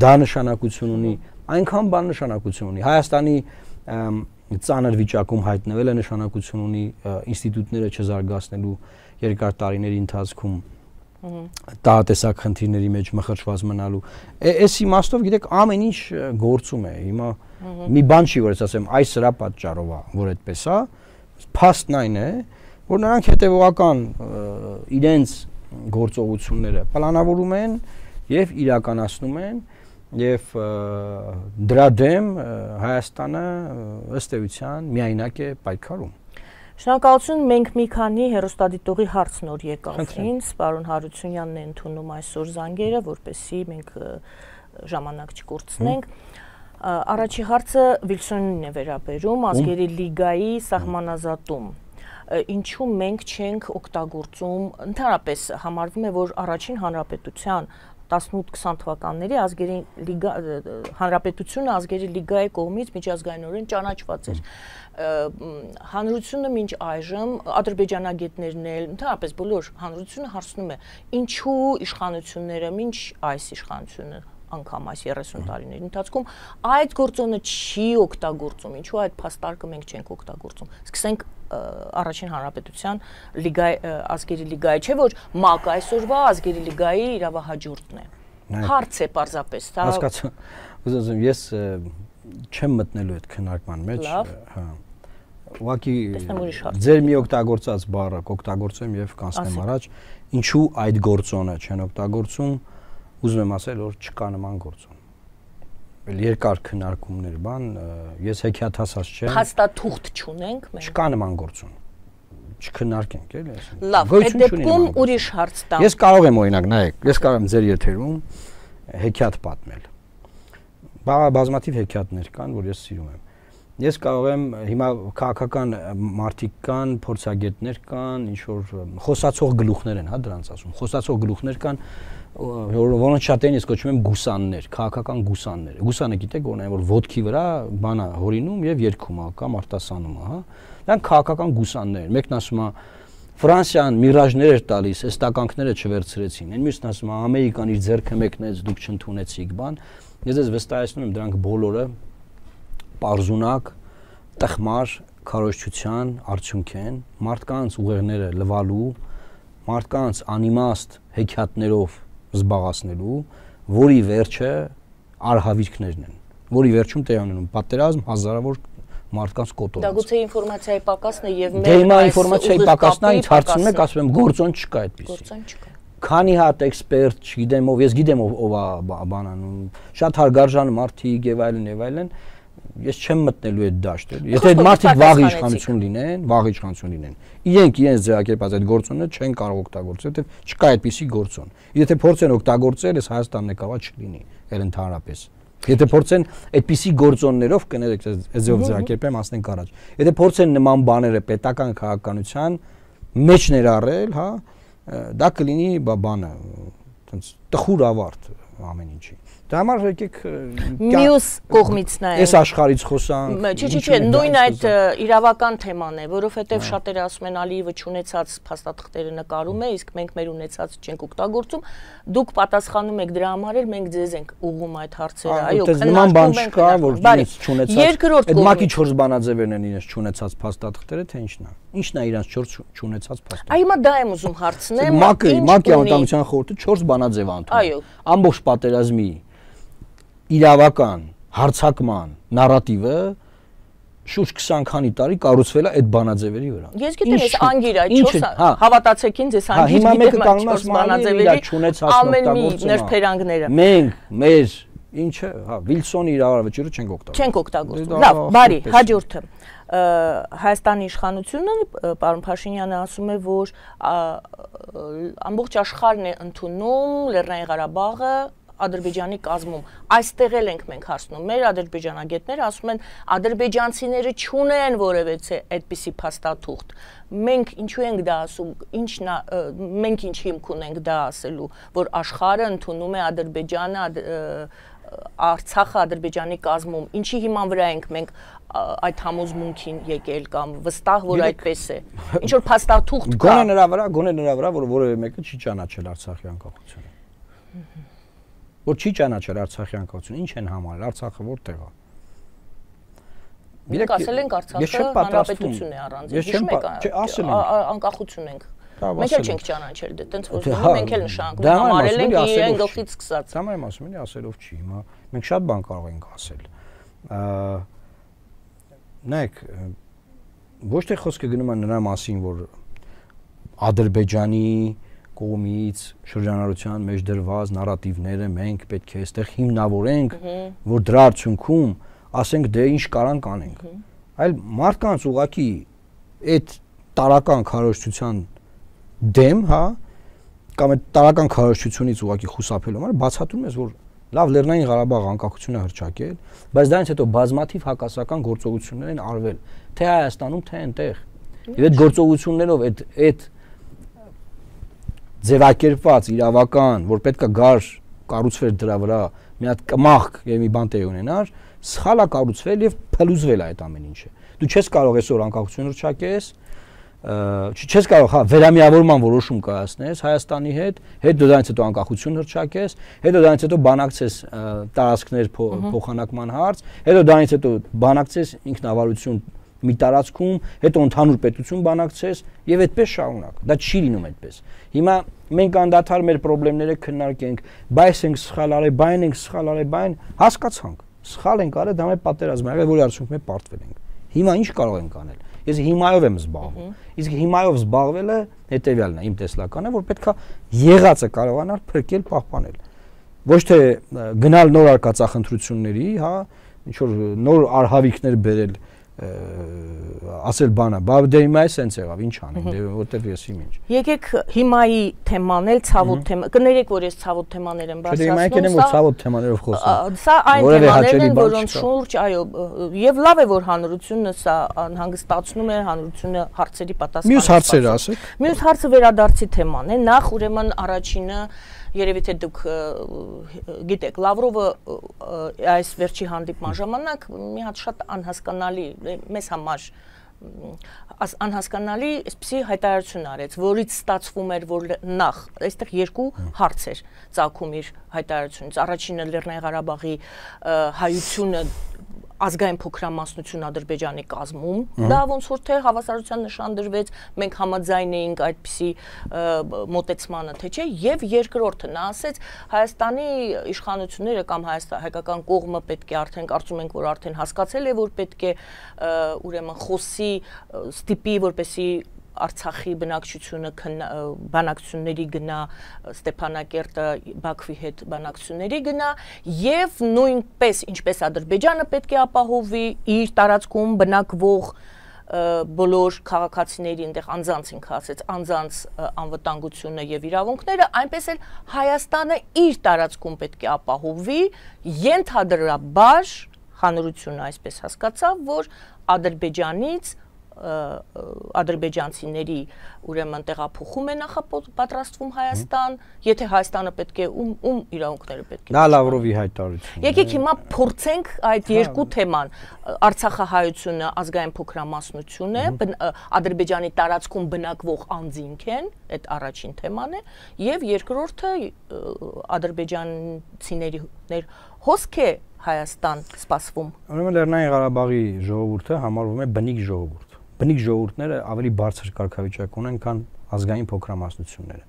դա նշանակություն ունի, այնքան բան նշանակություն ունի։ Հայաստանի ծանր վիճակում հայտնվելը նշանակություն ունի ինստիտուտները չզարգացնելու երկար տարիների ընթացքում տահատեսակ խնդիրների մեջ մխրճված մնալու։ Այս իմաստով գիտեք ամեն ինչ գործում է։ Հիմա մի բան չի, որ ես ասեմ, այս սրա պատճառով է, որ այդպես է, փաստն այն է, որ նրանք հետևողական իրենց գործողությունները պլանավորում են եւ իրականացնում են եւ դրա դեմ Հայաստանը ըստ էության միայնակ է պայքարում։ Շնորհակալություն, մենք մի քանի հեռուստադիտողի հարց նոր եկավ ինձ, պարոն Հարությունյանն է ընդունում այսօր զանգերը, որպեսզի մենք ժամանակ չկորցնենք։ Առաջի հարցը Վիլսոնին է վերաբերում, ազգերի լիգայի սահմանազատում։ Ինչու մենք չենք օգտագործում, ընդհանրապես համարվում է, որ առաջին հանրապետության 18-20 թվականների ազգերի լիգա հանրապետությունը ազգերի լիգայի կողմից միջազգայինորեն ճանաչված էր։ Հանրությունը մինչ այժմ ադրբեջանագետներն էլ, ընդհանրապես բոլոր հանրությունը հարցնում է, ինչու իշխանությունները մինչ այս իշխանությունը անգամ այս 30 տարիների ընթացքում այդ գործոնը չի օգտագործում, ինչու այդ փաստարկը մենք չենք օգտագործում։ Սկսենք առաջին հանրապետության ազգերի լիգայի, չէ՞ որ ՄԱԿ այսօրվա ազգերի լիգայի իրավահաջորդն է։ Հարց է պարզապես, դա հասկացա։ Ուզում ես չեմ մտնելու այդ քննարկման մեջ, հա։ Ուղղակի ձեր մի օգտագործած բառը կօգտագործեմ եւ կանցնեմ առաջ, ինչու այդ գործոնը չեն օգտագործում, ուզում եմ ասել, որ չկա նման գործոն։ Երկար քննարկումներ բան, ես հեքիաթասաց չեմ։ Փաստաթուղթ չունենք մենք։ Չկա նման գործոն։ Չքննարկենք, էլի ասեմ։ Լավ, այդ դեպքում ուրիշ հարց տամ։ Ես կարող եմ օրինակ, նայեք, ես կարող եմ ձեր եթերում հեքիաթ պատմել։ Բազմաթիվ հեքիաթներ կան, որ ես սիրում եմ։ Ես կարող եմ հիմա քաղաքական մարդիկ կան, փորձագետներ կան, ինչ որ խոսացող գլուխներ են, հա, դրանց ասում։ Խոսացող գլուխներ կան, որոնց շատերին ես կոչում եմ գուսաններ, քաղաքական գուսաններ։ Գուսանը գիտեք որն է, որ ոտքի վրա բանա հորինում եւ երգում է կամ արտասանում է, հա։ Դրանք քաղաքական գուսաններ են։ Մեկն ասում է Ֆրանսիան միրաժներ էր տալիս, այս տականքները չվերցրեցին։ Այն մյուսն ասում է Ամերիկան իր ձեռքը մեկնեց, դուք չընդունեցիք, բան։ Ես ես վստահեցնում եմ դրանք բոլորը պարզունակ, տխմար քարոզչության արդյունք են, մարդկանց ուղեղները լվալու, մարդկանց անիմաստ հեքիաթներով զբաղացնելու, որի վերջը արհավիրքներն են, որի վերջում տեղի ունենում պատերազմ, հազարավոր մարդկանց կոտորած։ Դա գուցե ինֆորմացիայի պակասն է եւ մեր այս ինֆորմացիայի պակասն է, ինձ հարցնում եք, ասում եմ գործոն չկա այդպեսի։ Գործոն չկա։ Քանի հատ էքսպերտ, չգիտեմ ով, ես գիտեմ ով է բանանում, շատ հարգարժան մարդիկ եւ այլն, ես չեմ մտնելու այդ դաշտը։ Եթե այդ մարդիկ վաղ իշխանություն լինեն, իրենք ձևակերպած այդ գործոնը չեն կարող օգտագործել, որովհետեւ չկա այդպիսի գործոն։ Եթե փորձեն օգտագործել, այս Հայաստանն է կարող չլինի, այլ ընդհանրապես։ Եթե փորձեն այդպիսի գործոններով կներեք, այդպես ձևակերպեմ, ասենք առաջ։ Եթե փորձեն նման բաները պետական քաղաքականության մեջ ներառել, հա, դա կլինի բանը, այտենց տխուր ավարտ ամեն ինչի։ Դա համար եկեք մյուս կողմից նայենք։ Այս աշխարհից խոսանք։ Չէ, նույն այդ իրավական թեման է, որովհետև շատերը ասում են Ալիևը չունեցած փաստաթղթերը նկարում է, իսկ մենք մեր ունեցած չենք օգտագործում։ Դուք պատասխանում եք դրա համար, էլ մենք ձեզ ենք ուղղում այդ հարցերը։ Այո, նման բան չկա, որ իրենց չունեցած։ Երկրորդ կողմից։ Այդ ՄԱԿ-ի 4 բանաձևերն են իրենց չունեցած փաստաթղթերը, թե ինչն է։ Ինչն է իրենց 4 չունեցած փաստաթղթը։ Այ հիմա դա եմ ուզում հարցնեմ։ ՄԱԿ-ի անվտանգության խորհուրդը 4 բանաձև է ընդունել։ Այո։ Ամբողջ պատերազմի իրավական հարցակման նարատիվը շուրջ 20 քանի տարի կառուցվել է այդ բանաձևերի վրա։ Ես գիտեմ, ես անգիր այդ 4 հավատացեք ինձ, ես անգիր գիտեմ այդ 4 բանաձևերի ամեն մի ներփերանգները։ Մենք մեր ինչը, հա, Վիլսոնի իրավավճիռը չենք օգտագործում։ Չենք օգտագործում։ Լավ, բարի, հաջորդը։ Հայաստանի իշխանությունը, պարոն Փաշինյանը ասում է, որ ամբողջ աշխարհն է ընդունում Լեռնային Ղարաբաղը Ադրբեջանի կազմում, այստեղ էլ ենք մենք հասնում։ Մեր ադրբեջանագետները ասում են, ադրբեջանցիները չունեն որևէ այդպիսի փաստաթուղթ։ Մենք ինչու ենք դա ասում, մենք ինչ հիմք ունենք դա ասելու, որ աշխարհը ընդունում է Ադրբեջանը Արցախը Ադրբեջանի կազմում, ինչի հիման վրա ենք մենք այդ համոզմունքին եկել կամ վստահ որ այդպես է։ Ինչ որ փաստաթուղթ կա։ Գոնե նրա վրա, որ որևէ մեկը չի ճանաչել Արցախի անկախությունը։ Որ չի ճանաչել Արցախի անկախությունը, ինչ են համարել, Արցախը որտեղ է։ Մենք ասել ենք Արցախը հանրապետություն է առանց։ Հիշում եք, անկախություն ենք։ Մենք էլ չենք ճանաչել դե, տենց որ մենք էլ նշանակում համարել ենք իրեն գլխից սկսած։ Դա եմ ասում, էլի ասելով չի, հիմա մենք շատ բան կարող ենք ասել։ Նայեք, ոչ թե խոսքը գնում է նրա մասին, որ Ադրբեջանի կողմից շրջանառության մեջ դրված նարատիվները մենք պետք է այստեղ հիմնավորենք, որ դրա արդյունքում ասենք դե ինչ կարանք անենք։ Այլ մարդկանց ուղղակի այդ տարական քարոզչության դեմ, հա, կամ այդ տարական քարոզչությունից ուղղակի խուսափելու համար բացատրում ես, որ լավ Լեռնային Ղարաբաղ անկախությունը հռչակել, բայց դրանից հետո բազմաթիվ հակասական գործողություններ են արվել, թե Հայաստանում, թե այնտեղ։ Եվ այդ գործողություններով այդ ձևակերպված իրավական, որ պետքա գար կառուցվեր դրա վրա, մի հատ կմախք եւ մի բան տեղ ունենար, սխալ է կառուցվել եւ փլուզվել է այդ ամեն ինչը։ Դու չես կարող այսօր անկախություն հռչակես, չես կարող, հա, վերամիավորման որոշում կայացնես Հայաստանի հետ դրանից հետո անկախություն հռչակես, հետո դրանից հետո բանակցես տարածքներ փոխանակման հարց, հետո դրանից հետո բանակցես ինքնավարություն մի տարածքում, հետո ընդհանուր պետություն բանակցես եւ այդպես շարունակ։ Դա չի լինում այդպես։ Հիմա մենք անդադար մեր խնդիրները քննարկենք, բայց ենք սխալ արել, բայն ենք սխալ արել, բայն հասկացանք։ Սխալ ենք արել, դա մեր պատերազմը եղել, որի արդյունքում մենք պարտվել ենք։ Հիմա ինչ կարող ենք անել։ Ես հիմայով եմ զբաղվում։ Իսկ հիմայով զբաղվելը հետեւյալն է, իմ տեսլականը, որ պետքա եղածը կարողանալ փրկել, պահպանել։ Ոչ թե գնալ նոր արկածախնդրությունների, հա, ինչ որ նոր արհավիկներ բերել, ասել բանը, բա դե հիմա է սենց եղավ, ինչ անենք, դե որտեվ ես իմ ինչ։ Եկեք հիմայի թեման էլ ցավոտ թեմա, կներեք որ ես ցավոտ թեմաներ եմ բարձրացնում։ Չէ, հիմա եկել եմ որ ցավոտ թեմաներով խոսեմ։ Սա այն թեմաներն են, որոնց շուրջ, այո, եւ լավ է որ հանրությունը սա հանգստացնում է, հանրությունը հարցերի պատասխան։ Մյուս հարցերը ասեք։ Մյուս հարցը վերադարձի թեման է, նախ ուրեմն առաջինը Երևի թե դուք գիտեք, Լավրովը այս վերջի հանդիպման ժամանակ մի հատ շատ անհասկանալի, մեզ համար անհասկանալի այսպիսի հայտարարություն արեց, որից ստացվում էր, որ նախ այստեղ երկու հարց էր ծագում իր հայտարարությունից։ Առաջինը Լեռնային Ղարաբաղի հայությունը ազգային փոքրամասնություն Ադրբեջանի կազմում, դա ոնց որ թե հավասարության նշան դրվեց, մենք համաձայն էինք այդպիսի մոտեցմանը, թե չէ, եւ երկրորդը նա ասեց Հայաստանի իշխանությունները կամ հայկական կողմը պետք է արդեն կարծում ենք, որ արդեն հասկացել է, որ պետք է ուրեմն խոսի, ստիպի, որպեսի Արցախի բնակչությունը բանակցությունների գնա, Ստեփանակերտը Բաքվի հետ բանակցությունների գնա եւ նույնպես ինչպես Ադրբեջանը պետք է ապահովի իր տարածքում բնակվող բոլոր քաղաքացիների այնտեղ անձանց ինքը ասեց անձանց անվտանգությունը եւ իրավունքները, այնպես էլ Հայաստանը իր տարածքում պետք է ապահովի, ենթադրաբար հանրությունը այսպես հասկացավ, որ Ադրբեջանից ադրբեջանցիների ուրեմն տեղափոխում է նախապատրաստվում Հայաստան, եթե Հայաստանը պետք է ում իրավունքները պետք է։ Դա Լավրովի հայտարարությունն է։ Եկեք հիմա փորձենք այդ երկու թեման՝ Արցախահայությունը, ազգային փոքրամասնություն է, Ադրբեջանի տարածքում բնակվող անձինք են, այդ առաջին թեման է, եւ երկրորդը ադրբեջանցիների հոսք է Հայաստան սպասվում։ Ուրեմն Լեռնային Ղարաբաղի ժողովուրդը համարվում է բնիկ ժողովուրդ։ Բնիկ ժողովուրդները ավելի բարձր կարգավիճակ ունեն, քան ազգային փոքրամասնությունները։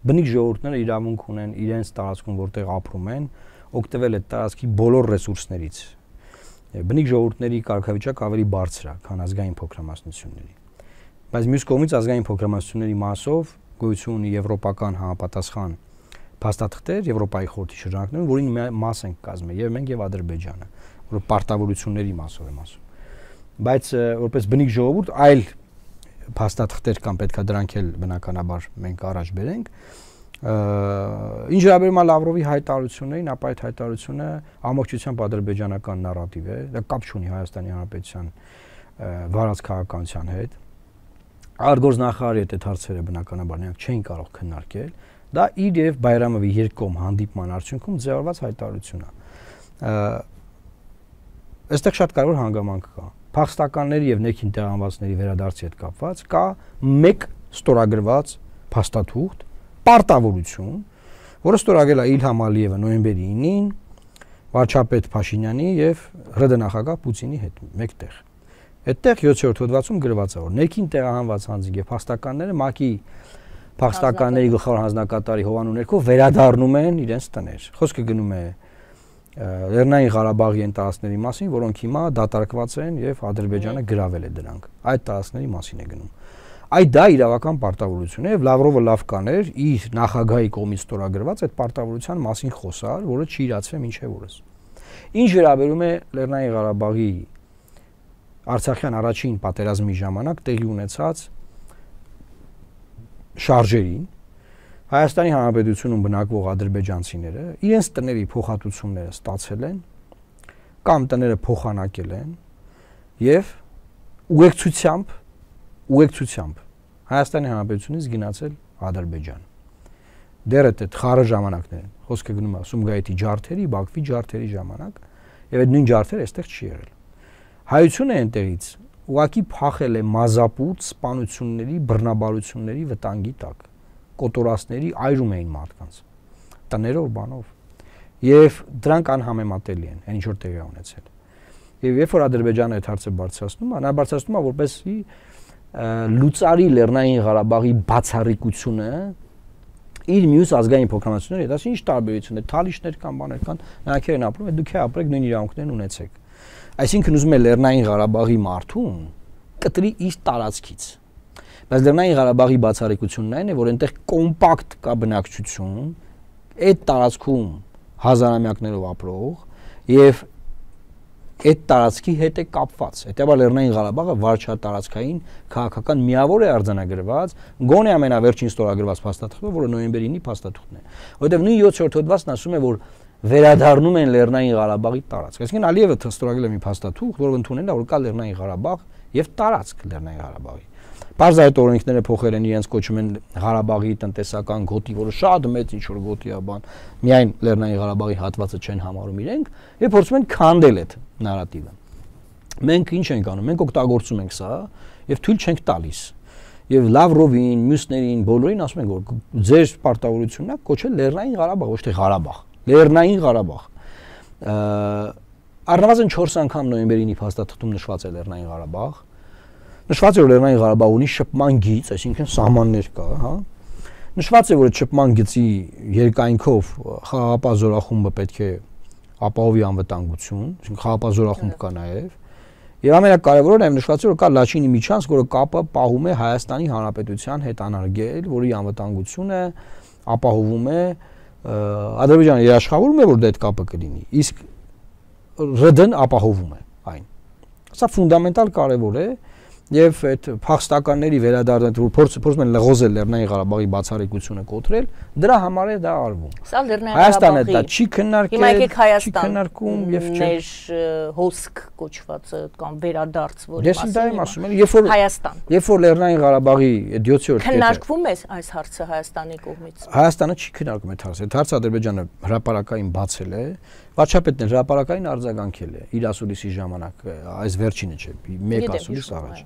Բնիկ ժողովուրդները իրավունք ունեն իրենց տարածքում, որտեղ ապրում են, օգտվել այդ տարածքի բոլոր ռեսուրսներից։ Բնիկ ժողովուրդների կարգավիճակը ավելի բարձր է, քան ազգային փոքրամասնությունների։ Բայց մյուս կողմից ազգային փոքրամասնությունների մասով գոյություն ունի եվրոպական համապատասխան փաստաթղթեր Եվրոպայի խորհրդի շրջանակներում, որին մաս են կազմել եւ մենք եւ Ադրբեջանը, որ պարտավորությունների մասով եմ ասում։ Բայց որպես բնիկ ժողովուրդ այլ փաստաթղթեր կամ պետքա դրանք էլ բնականաբար մենք առաջ բերենք, Ինչ վերաբերում է Լավրովի հայտարարություններին, ապա այդ հայտարարությունը ամբողջությամբ ադրբեջանական նարատիվ է, դա կապ չունի Հայաստանի Հանրապետության վարած քաղաքականության հետ։ Արտգործնախարարի հետ այդ հարցերը բնականաբար նրանք չէին կարող քննարկել, դա իր եւ Բայրամովի երկկողմ հանդիպման արդյունքում ձևավորված հայտարարություն է։ Այստեղ շատ կարևոր հանգամանք կա։ Փախստականների եւ ներքին տեղահանվածների վերադարձի հետ կապված կա մեկ ստորագրված փաստաթուղթ, պարտավորություն, որը ստորագրել է Իլհամ Ալիևը նոյեմբերի 9-ին վարչապետ Փաշինյանի եւ ՌԴ նախագահ Պուտինի հետ մեկտեղ։ Այդտեղ 7-րդ հոդվածում գրված է, որ ներքին տեղահանված անձինք եւ փախստականները ՄԱԿ-ի փախստականների գլխավոր հանձնակատարի հովանու ներքո վերադառնում են իրենց տներ։ Խոսքը գնում է Լեռնային Ղարաբաղի այն տարածքների մասին, որոնք հիմա դատարկված են եւ Ադրբեջանը գրավել է դրանք։ Այդ տարածքների մասին է գնում։ Այդ դա իրավական պարտավորություն է եւ Լավրովը լավ կաներ իր նախագահի կողմից ստորագրված այդ պարտավորության մասին խոսալ, որը չի իրացվել մինչեւ օրս։ Ինչ վերաբերում է Լեռնային Ղարաբաղի Արցախյան առաջին պատերազմի ժամանակ տեղի ունեցած շարժերին, Հայաստանի Հանրապետությունում բնակվող ադրբեջանցիները իրենց տների փոխհատուցումները ստացել են կամ տները փոխանակել են եւ ուղեկցությամբ Հայաստանի Հանրապետությունից գնացել Ադրբեջան։ Դեռ այդ խառը ժամանակներն, խոսքը գնում է Սումգայիթի ջարդերի, Բաքվի ջարդերի ժամանակ, եւ այդ նույն ջարդերը այստեղ չի եղել։ Հայությունը այնտեղից ուղղակի փախել է մազապուտ սպանությունների, բռնաբարությունների վտանգի տակ, կոտորածների այրում էին մարդկանց, տներով, բանով, եւ դրանք անհամեմատելի են, այն ինչ որ տեղի ունեցել։ Եվ երբ որ Ադրբեջանը այդ հարցը բարձրացնում է, նա բարձրացնում է որպեսզի լուծարի Լեռնային Ղարաբաղի բացառիկությունը իր մյուս ազգային փոքրամասնությունների հետ, ասի ինչ տարբերություն է, թալիշներ կան, բաներ կան, նրանք են ապրում, դուք ապրեք նույն իրավունքներն ունեցեք։ Այսինքն ուզում է Լեռնային Ղարաբաղի մարդուն կտրի իր տարածքից։ Բայց Լեռնային Ղարաբաղի բացառիկությունն այն է, որ այնտեղ կոմպակտ կա բնակչություն, այդ տարածքում հազարամյակներով ապրող եւ այդ տարածքի հետ է կապված։ Հետեւաբար Լեռնային Ղարաբաղը վարչատարածքային քաղաքական միավոր է արձանագրված, գոնե ամենավերջին ստորագրված փաստաթղթը, որը նոյեմբերի 9-ի փաստաթուղթն է։ Որտեղ նույն 7-րդ հոդվածն ասում է, որ վերադառնում են Լեռնային Ղարաբաղի տարածք։ Այսինքն Ալիևը ստորագրել է մի փաստաթուղթ, որը ընդունել է, որ կա Լեռնային Ղարաբաղ եւ տարածք Լեռնային Ղարաբաղի։ Պարզ այդ օրենքները փոխել են, իրենց կոչում են Ղարաբաղի տնտեսական գոտի, որը շատ մեծ ինչ որ գոտի է, բան, միայն Լեռնային Ղարաբաղի հատվածը չեն համարում իրենք, եւ փորձում են քանդել այդ նարատիվը։ Մենք ինչ ենք անում, մենք օգտագործում ենք սա եւ թույլ չենք տալիս։ Եվ Լավրովին, մյուսներին, բոլորին ասում ենք, որ ձեր պարտավորությունն է կոչել Լեռնային Ղարաբաղ, ոչ թե Ղարաբաղ, Լեռնային Ղարաբաղ։ Առնվազն 4 անգամ նոյեմբերի 9-ի փաստաթղթում նշված է Լեռնային Ղարաբաղ։ Նշված է, որ Լեռնային Ղարաբաղ ունի շփման գիծ, այսինքն սահմաններ կա, հա։ Նշված է, որ այդ շփման գծի երկայնքով խաղաղապահ զորախումբը պետք է ապահովի անվտանգություն, այսինքն խաղաղապահ զորախումբ կա նաև։ Եվ ամենակարևորը նաև նշված է, որ կա Լաչինի միջանցք, որը կապը պահում է Հայաստանի Հանրապետության հետ անարգել, որի անվտանգությունը ապահովում է Ադրբեջանը երաշխավորում է, որ դա այդ կապը կլինի, իսկ ՌԴ-ն ապահովում է այն։ Սա ֆունդամենտալ կարևոր է եւ այդ փախստականների վերադարձը, որ փորձում են լղոզել Լեռնային Ղարաբաղի բացառիկությունը կոտրել, դրա համար է դա արվում։ Սա Լեռնային Հայաստանը դա չի քննարկել, չի քննարկում եւ ներ հոսք կոչվածը կամ վերադարձ, որի մասին։ Ես դա եմ ասում, Հայաստան։ Երբ որ Լեռնային Ղարաբաղի 7-րդ քննարկվում է այս հարցը Հայաստանի կողմից։ Հայաստանը չի քննարկում այդ հարցը։ Այդ հարցը Ադրբեջանը հրապարակային բացել է, վարչապետն էլ հրապարակային արձագանքել է իր ասուլիսի ժամանակ, այս վերջինը չէ, մեկ ասուլիս առաջ։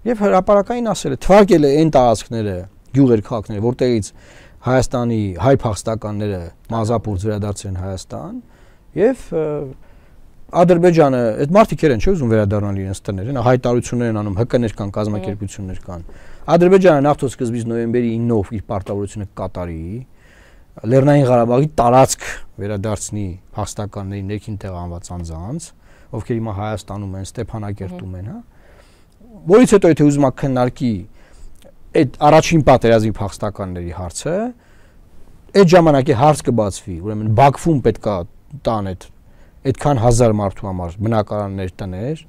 Եվ հրապարակային ասել է, թվարկել է այն տարածքները, գյուղեր, քաղաքները, որտեղից Հայաստանի հայ փախստականները մազապուրց վերադարձել են Հայաստան, եւ Ադրբեջանը, այդ մարդիկ են, չէ՞ ուզում վերադառնալ իրենց տներ, հայտարարություններ են անում, ՀԿ-ներ կան, կազմակերպություններ կան։ Ադրբեջանը նախ սկզբից նոյեմբերի 9-ով իր պարտավորությունը կատարի, Լեռնային Ղարաբաղի տարածք վերադարձնի փախստականների ներքին տեղահանված անձանց, ովքեր հիմա Հայաստանում են, Ստեփանակերտում են, հա։ Որից հետո եթե ուզում եք քննարկի այդ առաջին պատերազմի փախստականների հարցը, այդ ժամանակի հարց կբացվի, ուրեմն Բաքվում պետքա տան այդքան հազար մարդու համար բնակարաններ տներ,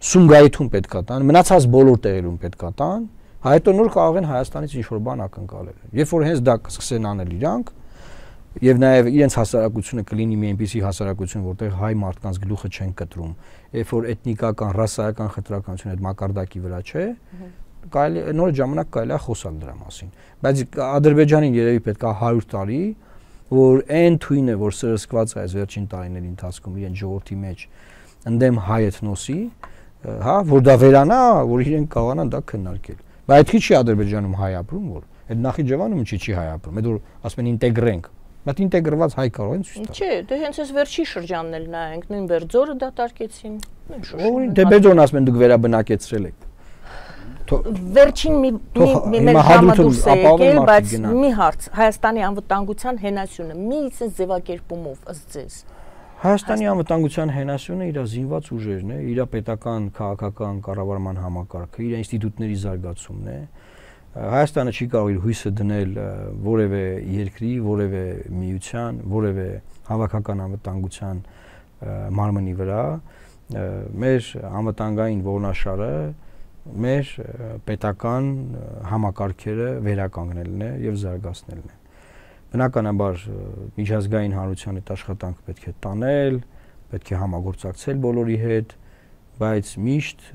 Սումգայիթում պետքա տան, մնացած բոլոր տեղերում պետքա տան, Հետո նոր կարող են Հայաստանից ինչ-որ բան ակնկալել։ Երբ որ հենց դա կսկսեն անել իրանք, եւ նաեւ իրենց հասարակությունը կլինի մի այնպիսի հասարակություն, որտեղ հայ մարդկանց գլուխը չեն կտրում, երբ որ էթնիկական, ռասայական խտրականությունը այդ մակարդակի վրա չէ, կարելի նոր ժամանակ կարելի է խոսալ դրա մասին։ Բայց Ադրբեջանին երևի պետք է 100 տարի, որ այն թույնը, որ սրսկված է այս վերջին տարիների ընթացքում իրեն ժողովրդի մեջ ընդդեմ հայ էթնոսի, հա, որ դա վերանա, որ իրենք կարողանան դա քննարկել։ Բայց այդ չի Ադրբեջանում հայ ապրում, որ այդ Նախիջևանում չի հայ ապրում, այդ որ ասում են ինտեգրենք, բայց ինտեգրված հայ կարող են ցույց տալ։ Չէ, դե հենց այս վերջի շրջանն էլ նայենք, նույն Բերձորը դատարկեցին, նույն Շուշին։ Դե Բերձորն ասում են դուք վերաբնակեցրել եք։ Վերջին մի մեր ժամը դուրս է եկել, բայց մի հարց, Հայաստանի անվտանգության հենասյունը մի sense ձևակերպումով ըստ ձեզ։ Հայաստանի անվտանգության հենասյունը իր զինված ուժերն է, իր պետական, քաղաքական կառավարման համակարգը, իր ինստիտուտների զարգացումն է։ Հայաստանը չի կարող իր հույսը դնել որևէ երկրի, որևէ միության, որևէ հավաքական անվտանգության մարմնի վրա։ Մեր անվտանգային ողնաշարը մեր պետական համակարգերը վերականգնելն է եւ զարգացնելն է։ Բնականաբար միջազգային հանրության այդ աշխատանքը պետք է տանել, պետք է համագործակցել բոլորի հետ, բայց միշտ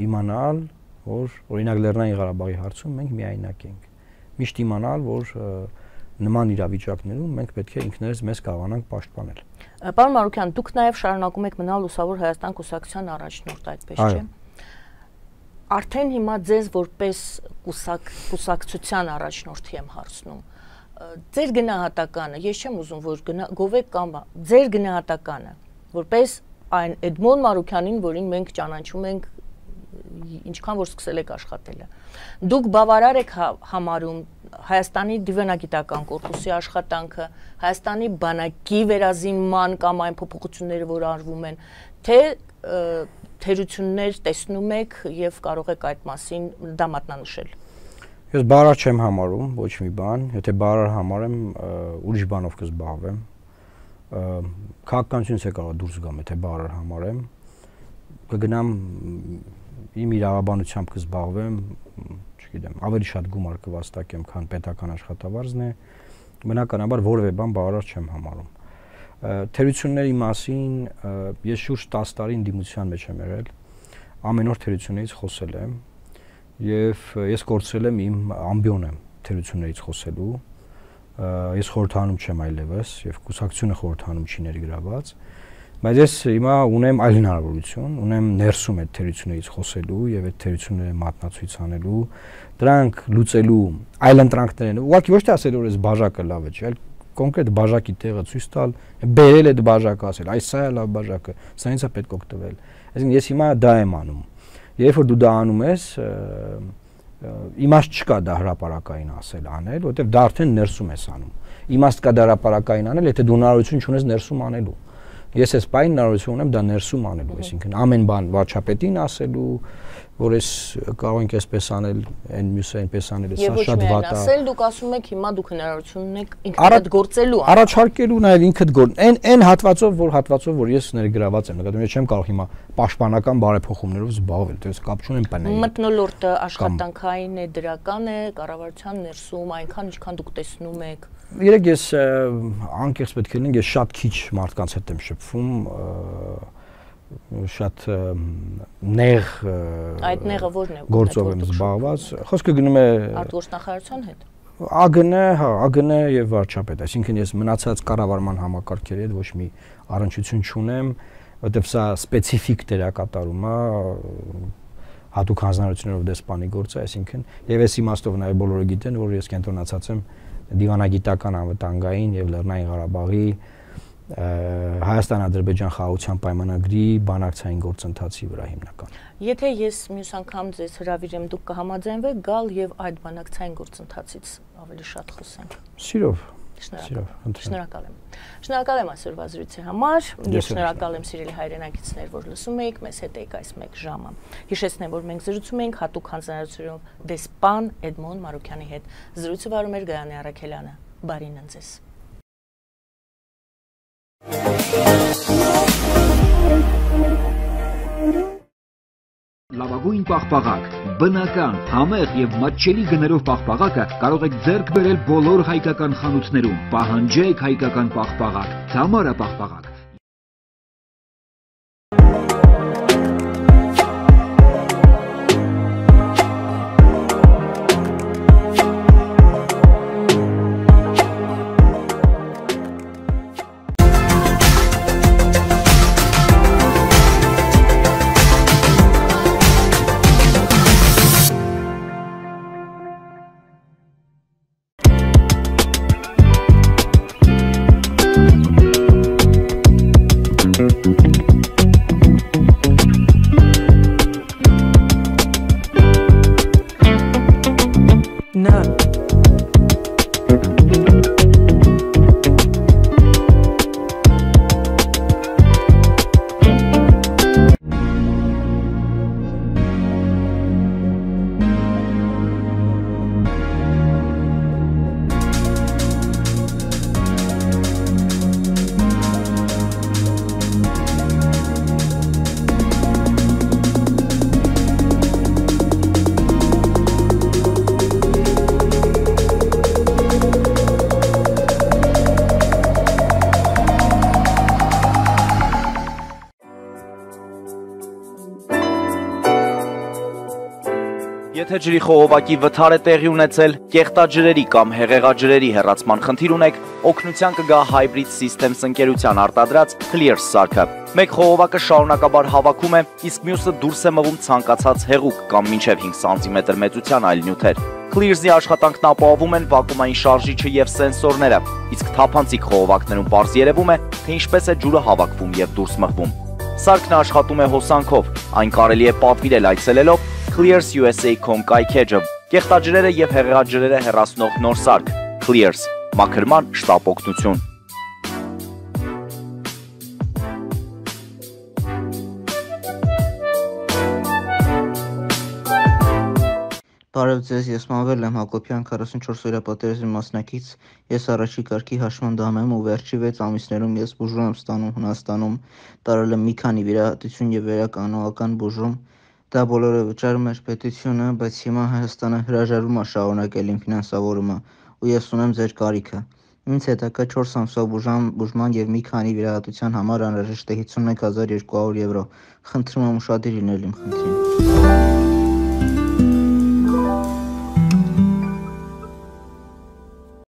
իմանալ, որ օրինակ Լեռնային Ղարաբաղի հարցում մենք միայնակ ենք։ Միշտ իմանալ, որ նման իրավիճակներում մենք պետք է ինքներս մեզ կարողանանք պաշտպանել։ Պարոն Մարուկյան, դուք նաև շարունակում եք մնալ Լուսավոր Հայաստան կուսակցության առաջնորդ, այդպես չէ՞։ Արդեն հիմա ձեզ որպես կուսակցության առաջնորդի եմ հարցնում։ Ձեր գնահատականը, ես չեմ ուզում, որ գովեք կամ ձեր գնահատականը, որպես այն Էդմոն Մարուկյանին, որին մենք ճանաչում ենք, ինչքան որ սկսել եք աշխատելը։ Դուք բավարար եք համարում Հայաստանի դիվանագիտական կորպուսի աշխատանքը, Հայաստանի բանակի վերազինման կամ այն փոփոխությունները, որ արվում են, թե թերություններ տեսնում եք եւ կարող եք այդ մասին դա մատնանշել։ Ես բառար չեմ համարում ոչ մի բան, եթե բառար համարեմ, ուրիշ բանով կզբաղվեմ։ Քաղաքականությունից է կարող դուրս գամ, եթե բառար համարեմ, կգնամ իմ իրավաբանությամբ կզբաղվեմ, չգիտեմ, ավելի շատ գումար կվաստակեմ, քան պետական աշխատավարձն է, բնականաբար որևէ բան բառար չեմ համարում։ Թերությունների մասին ես շուրջ 10 տարի ընդդիմության մեջ եմ եղել, ամեն օր թերություններից խոսել եմ եւ ես կորցրել եմ իմ ամբիոնը թերություններից խոսելու, ես խորհրդանում չեմ այլևս եւ կուսակցությունը խորհրդանում չի ներգրաված, բայց ես հիմա ունեմ այլ հնարավորություն, ունեմ ներսում այդ թերություններից խոսելու եւ այդ թերությունները մատնացույց անելու, դրանք լուծելու այլ ընտրանքներ են, ուղղակի ոչ թե ասել որ այս բաժակը լավ է, չէ՞, այլ կոնկրետ բաժակի տեղը ցույց տալ, բերել այդ բաժակը, ասել, այս սա է լավ բաժակը, սրանից է պետք օգտվել։ Այսինքն ես հիմա դա եմ անում։ Երբ որ դու դա անում ես, իմաստ չկա դա հրապարակային ասել անել, որովհետև դա արդեն ներսում ես անում։ Իմաստ կա դա հրապարակային անել, եթե դու հնարավորություն չունես ներսում անելու։ Ես այս բանը հնարավորություն ունեմ դա ներսում անելու, այսինքն ամեն բան վարչապետին ասելու, որ ես կարող ենք այսպես անել, այն մյուսը այնպես անել, սա շատ վատ է։ Ասել դուք ասում եք հիմա դուք հնարավորություն ունեք ինքդ գործելու, առաջարկելու նաև ինքդ գործ։ Այն հատվածով, որ ես ներգրաված եմ, նկատում ես չեմ կարող հիմա պաշտպանական բարեփոխումներով զբաղվել, դες կապ չունեմ բանի։ Մթնոլորտը աշխատանքային է, դրական է, կառավարության ներսում, այնքան ինչքան դուք տեսնում եք։ Երեք ես անկեղծ պետք է լինենք, ես շատ քիչ մարդկանց հետ եմ շփվում, շատ նեղ այդ նեղը ո՞րն է գործով եմ զբաղված, խոսքը գնում է արտգործնախարարության հետ։ ԱԳՆ եւ վարչապետ, այսինքն ես մնացած կառավարման համակարգերի հետ ոչ մի առնչություն չունեմ, որտեղ սա սպეციფიկ դերակատարում է հատուկ հանձնարարություններով դեսպանի գործը, այսինքն եւ այս իմաստով նաեւ բոլորը գիտեն, որ ես կենտրոնացած եմ դիվանագիտական անվտանգային եւ Լեռնային Ղարաբաղի Հայաստան-Ադրբեջան խաղաղության պայմանագրի բանակցային գործընթացի վրա հիմնական։ Եթե ես մյուս անգամ ձեզ հրավիրեմ, դուք կհամաձայնվեք գալ եւ այդ բանակցային գործընթացից ավելի շատ խոսենք։ Սիրով։ Շնորհակալ եմ։ Շնորհակալ եմ այսօրվա զրույցի համար։ Ես շնորհակալ եմ սիրելի հայրենակիցներ, որ լսում եք, մեզ հետ եք այս մեկ ժամը։ Հիշեցնեմ, որ մենք զրուցում ենք հատուկ հանձնարարությունով դեսպան Էդմոն Մարուկյանի հետ։ Զրույցը վարում էր Գայանե Առաքելյանը։ Բարին ձեզ։ Լավագույն պաղպաղակ, բնական, համեղ եւ մատչելի գներով պաղպաղակը կարող եք ձեռք բերել բոլոր հայկական խանութներում։ Պահանջեք հայկական պաղպաղակ, Թամարա պաղպաղակ։ Եթե ջրի խողովակի վթար է տեղի ունեցել, կեղտաջրերի կամ հեղեղաջրերի հեռացման խնդիր ունեք, օգնության կգա Hybrid Systems ընկերության արտադրած Clears սարքը։ Մեկ խողովակը շարունակաբար հավաքում է, իսկ մյուսը դուրս է մվում ցանկացած հեղուկ կամ մինչև 5 սանտիմետր մեծության այլ նյութեր։ Clears-ի աշխատանքն ապահովում են վակուումային շարժիչը եւ սենսորները, իսկ թափանցիկ խողովակներում պարզ երևում է, թե ինչպես է ջուրը հավաքվում եւ դուրս մղվում։ Սարքն աշխատում է հոսանքով, այն կարելի է պատվիրել այցելելով clearsusa.com կայքեջը, կեղտաջրերը եւ հեղեղաջրերը հեռացնող նոր սարք, Clears, մաքրման շտապ օգնություն։ Բարև ձեզ, ես Մանվել եմ Հակոբյան, 44-օրյա պատերազմի մասնակից, ես առաջի կարգի հաշմանդամ եմ ու վերջի 6 ամիսներում ես բուժում եմ ստանում Հունաստանում, տարել եմ մի քանի վիրահատություն եւ վերականոնական բուժում, դա բոլորը վճարում էր պետությունը, բայց հիմա Հայաստանը հրաժարվում է շարունակել իմ ֆինանսավորումը ու ես ունեմ ձեր կարիքը։ Ինձ հետաքրքրում է 4 ամսվա բուժման եւ մի քանի վիրահատության համար անհրաժեշտ է 51200 եվրո։ Խնդրում եմ ուշադիր լինել իմ խնդրին։